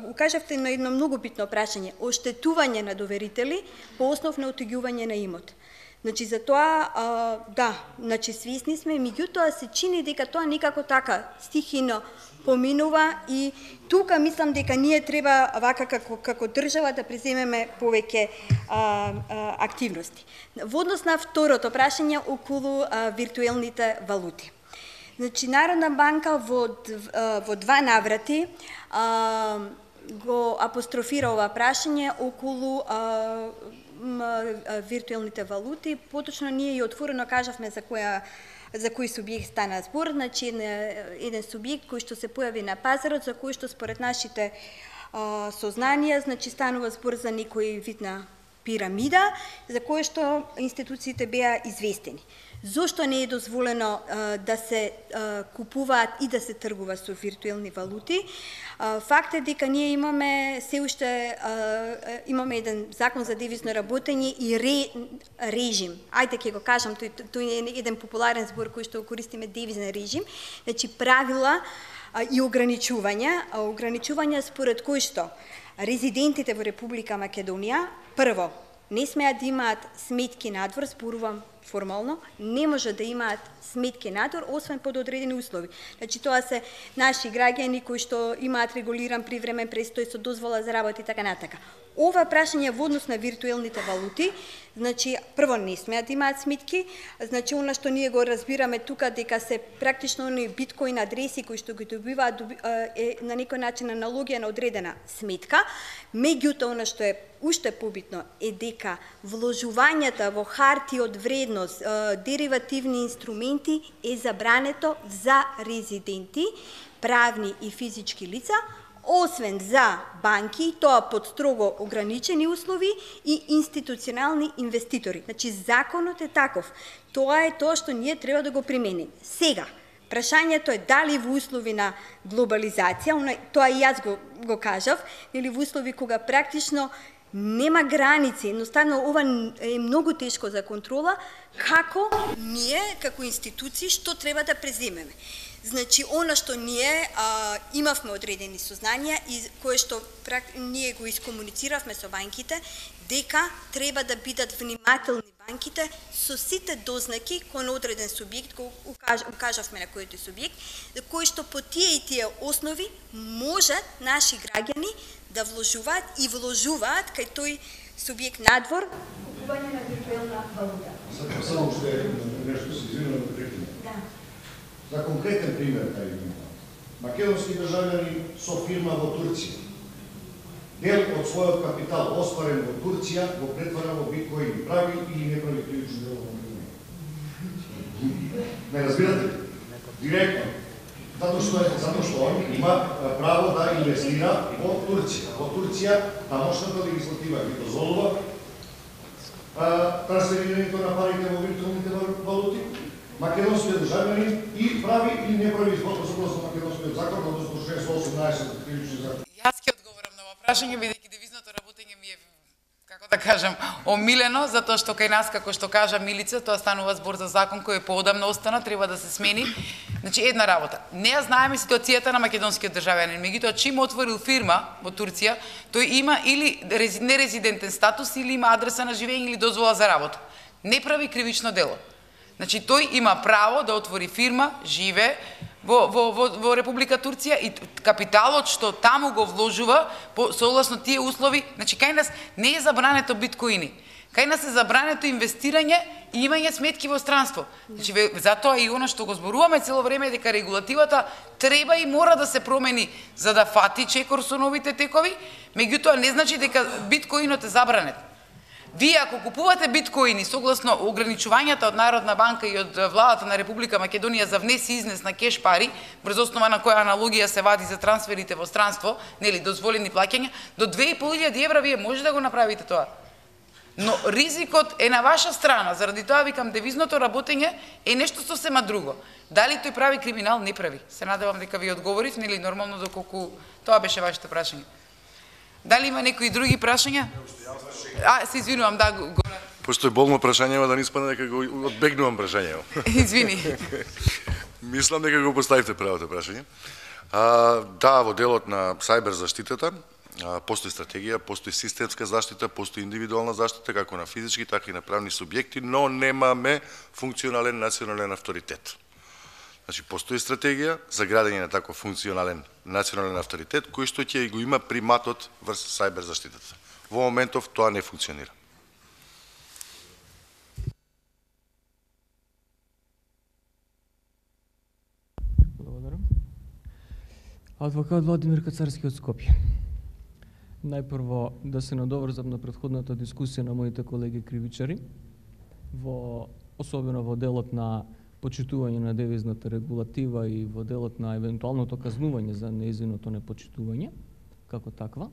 укажавте на едно многу битно прашање, оштетување на доверители по основ на отегување на имот. Значи, за тоа, да, значи, свесни сме, меѓутоа се чини дека тоа никако така стихино поминува и тука мислам дека ние треба вака како држава да преземеме повеќе активности. Во однос на второто прашање околу виртуелните валути. Значи, Народна банка во два наврати го апострофира ова прашање околу виртуелните валути. Поточно ние и отворено кажавме за кој субјект стана збор, значи еден субјект кој што се појави на пазарот, за кој што според нашите сознанија, значи станува збор за некој вид на пирамида, за кој што институциите беа известени. Зошто не е дозволено да се купуваат и да се тргува со виртуелни валути? Факт е дека ние имаме се уште имаме еден закон за девизно работење и режим. Ајде ќе го кажам, тој е еден популарен збор кој што користиме, девизен режим, значи правила и ограничувања според кои што резидентите во Република Македонија прво не смеат да имаат сметки надвор, зборувам формално, не може да имаат сметки надвор, освен под одредени услови. Значи тоа се наши граѓани кои што имаат регулиран привремен престој со дозвола за работа и така натака. Ова прашање во однос на виртуелните валути, значи прво не смеат да имаат сметки, значи она што ние го разбираме тука дека се практично они биткоин адреси кои што ги добиваат е на некој начин аналогија на одредена сметка. Меѓутоа она што е уште побитно е дека вложувањата во харти од вредност, деривативни инструменти е забрането за резиденти, правни и физички лица, освен за банки, тоа под строго ограничени услови, и институционални инвеститори. Значи, законот е таков. Тоа е тоа што ние треба да го примениме. Сега, прашањето е дали во услови на глобализација, тоа и јас го кажав, или во услови кога практично нема граници, едноставно ова е многу тешко за контрола, како ние, како институции, што треба да преземеме. Значи, она што ние имавме одредени сознанија и кое што ние го искомунициравме со банките, дека треба да бидат внимателни банките со сите дознаки кој на одреден субјект, го укажавме на кој субјект, кој што по тие и тие основи можат наши граѓани да вложуваат и вложуваат кај тој субјект надвор купување на виртуелна валута. Само уште нешто се извинувам да прекинам. За конкретен пример, кај македонски државјани со фирма во Турција, дел од својот капитал остварен во Турција го претвара во биткоин, прави или не прави кривично дело во Македонија. Не разбирате ли? Директно. Затоа што он има право да инвестира во Турција. Во Турција тамошната легислатива ги дозволува трансферирањето на парите во виртуелните валути. Македонскиот државјанин и прави или не прави согласно македонскиот закон, односно член 118 од кривичниот закон. Јас ќе одговорам на ова прашање, бидејќи девизното работење ми е, како да кажам, омилено, затоа што кај нас, како што кажа Милица, тоа станува збор за закон кој е поодамна остана, треба да се смени. Значи, една работа. Не ја знаеме ситуацијата на македонскиот државјанин, меѓутоа чим отворил фирма во Турција, тој има или нерезидентен статус, или има адреса на живење или дозвола за работа. Не прави кривично дело. Значи, тој има право да отвори фирма, живе во Република Турција и капиталот што таму го вложува, согласно тие услови, значи, кај нас не е забрането биткоини. Кај нас е забрането инвестирање и имање сметки во странство. Значи, затоа и оно што го зборуваме цело време е дека регулативата треба и мора да се промени за да фати чекор со новите текови, меѓутоа не значи дека биткоинот е забранет. Вие ако купувате биткоини согласно ограничувањата од Народна банка и од владата на Република Македонија за внес и изнес на кеш пари, врз основа на која аналогија се вади за трансферите во странство, нели дозволени плаќања, до 2500 евра вие може да го направите тоа. Но ризикот е на ваша страна, заради тоа викам девизното работење е нешто сосема друго. Дали тој прави криминал, не прави. Се надевам дека ви одговорив, нели нормално доколку тоа беше вашето прашање. Дали има некои други прашања? Се извинувам, да, го... Пошто е болно прашање, да не испадне дека го одбегнувам прашањето. Извини. Мислам дека го поставивте правото прашање. Да, во делот на сајбер заштитата постои стратегија, постои системска заштита, постои индивидуална заштита како на физички, така и на правни субјекти, но немаме функционален национален авторитет. Значи, постои стратегија за градење на таков функционален национален авторитет, кој што ќе го има приматот врз сајбер заштитата. Во моментов тоа не функционира. Благодарам. Адвокат Владимир Кацарски од Скопје. Најпрво да се надоврзам на претходната дискусија на моите колеги кривичари, особено во делот на почитување на девизната регулатива и во делот на евентуалното казнување за нејзиното непочитување, како таква.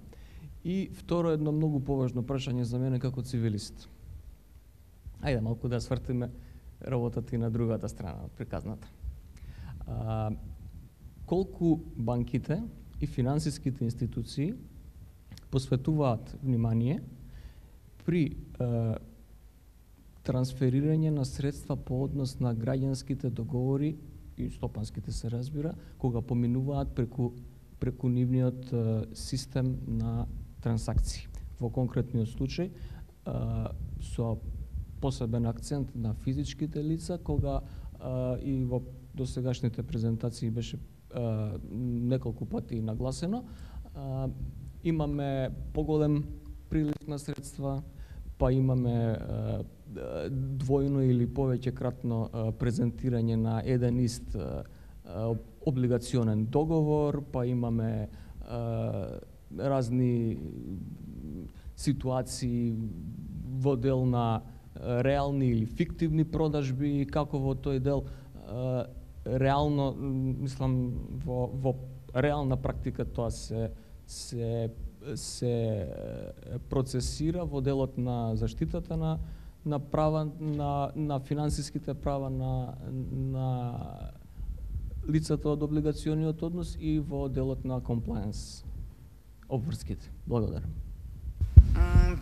И второ, едно многу поважно прашање за мене како цивилист. Ајде малку да свртиме работата и на другата страна од приказната. Колку банките и финансиските институции посветуваат внимание при трансферирање на средства по однос на граѓанските договори и стопанските се разбира, кога поминуваат преку нивниот систем на трансакции. Во конкретниот случај со посебен акцент на физичките лица, кога и во досегашните презентации беше неколку пати нагласено, имаме поголем прилив на средства, па имаме двојно или повеќекратно презентирање на еден ист облигационен договор, па имаме разни ситуации во дел на реални или фиктивни продажби, како во тој дел реално, мислам, во реална практика тоа се процесира во делот на заштитата на права на финансиските права на лицата од облигациониот однос и во делот на комплаенс обврските. Благодарам.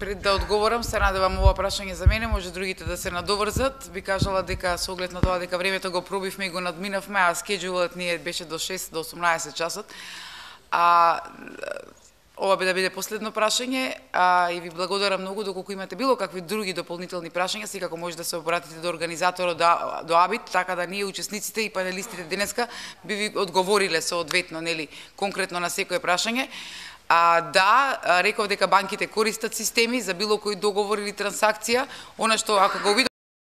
Пред да одговорам, се надевам ова прашање за мене, може другите да се надоврзат. Би кажала дека со оглед на тоа дека времето го пробивме и го надминавме, а скеџулот ни беше до 6 до 18 часот. Ова би да биде последно прашање, и ви благодарам многу. Доколку имате било какви други дополнителни прашања, секако може да се обратите до организаторот, до АБИТ, така да ние учесниците и панелистите денеска би ви одговориле соодветно, нели, конкретно на секое прашање. Да, реков дека банките користат системи за било кој договор или трансакција, она што ако го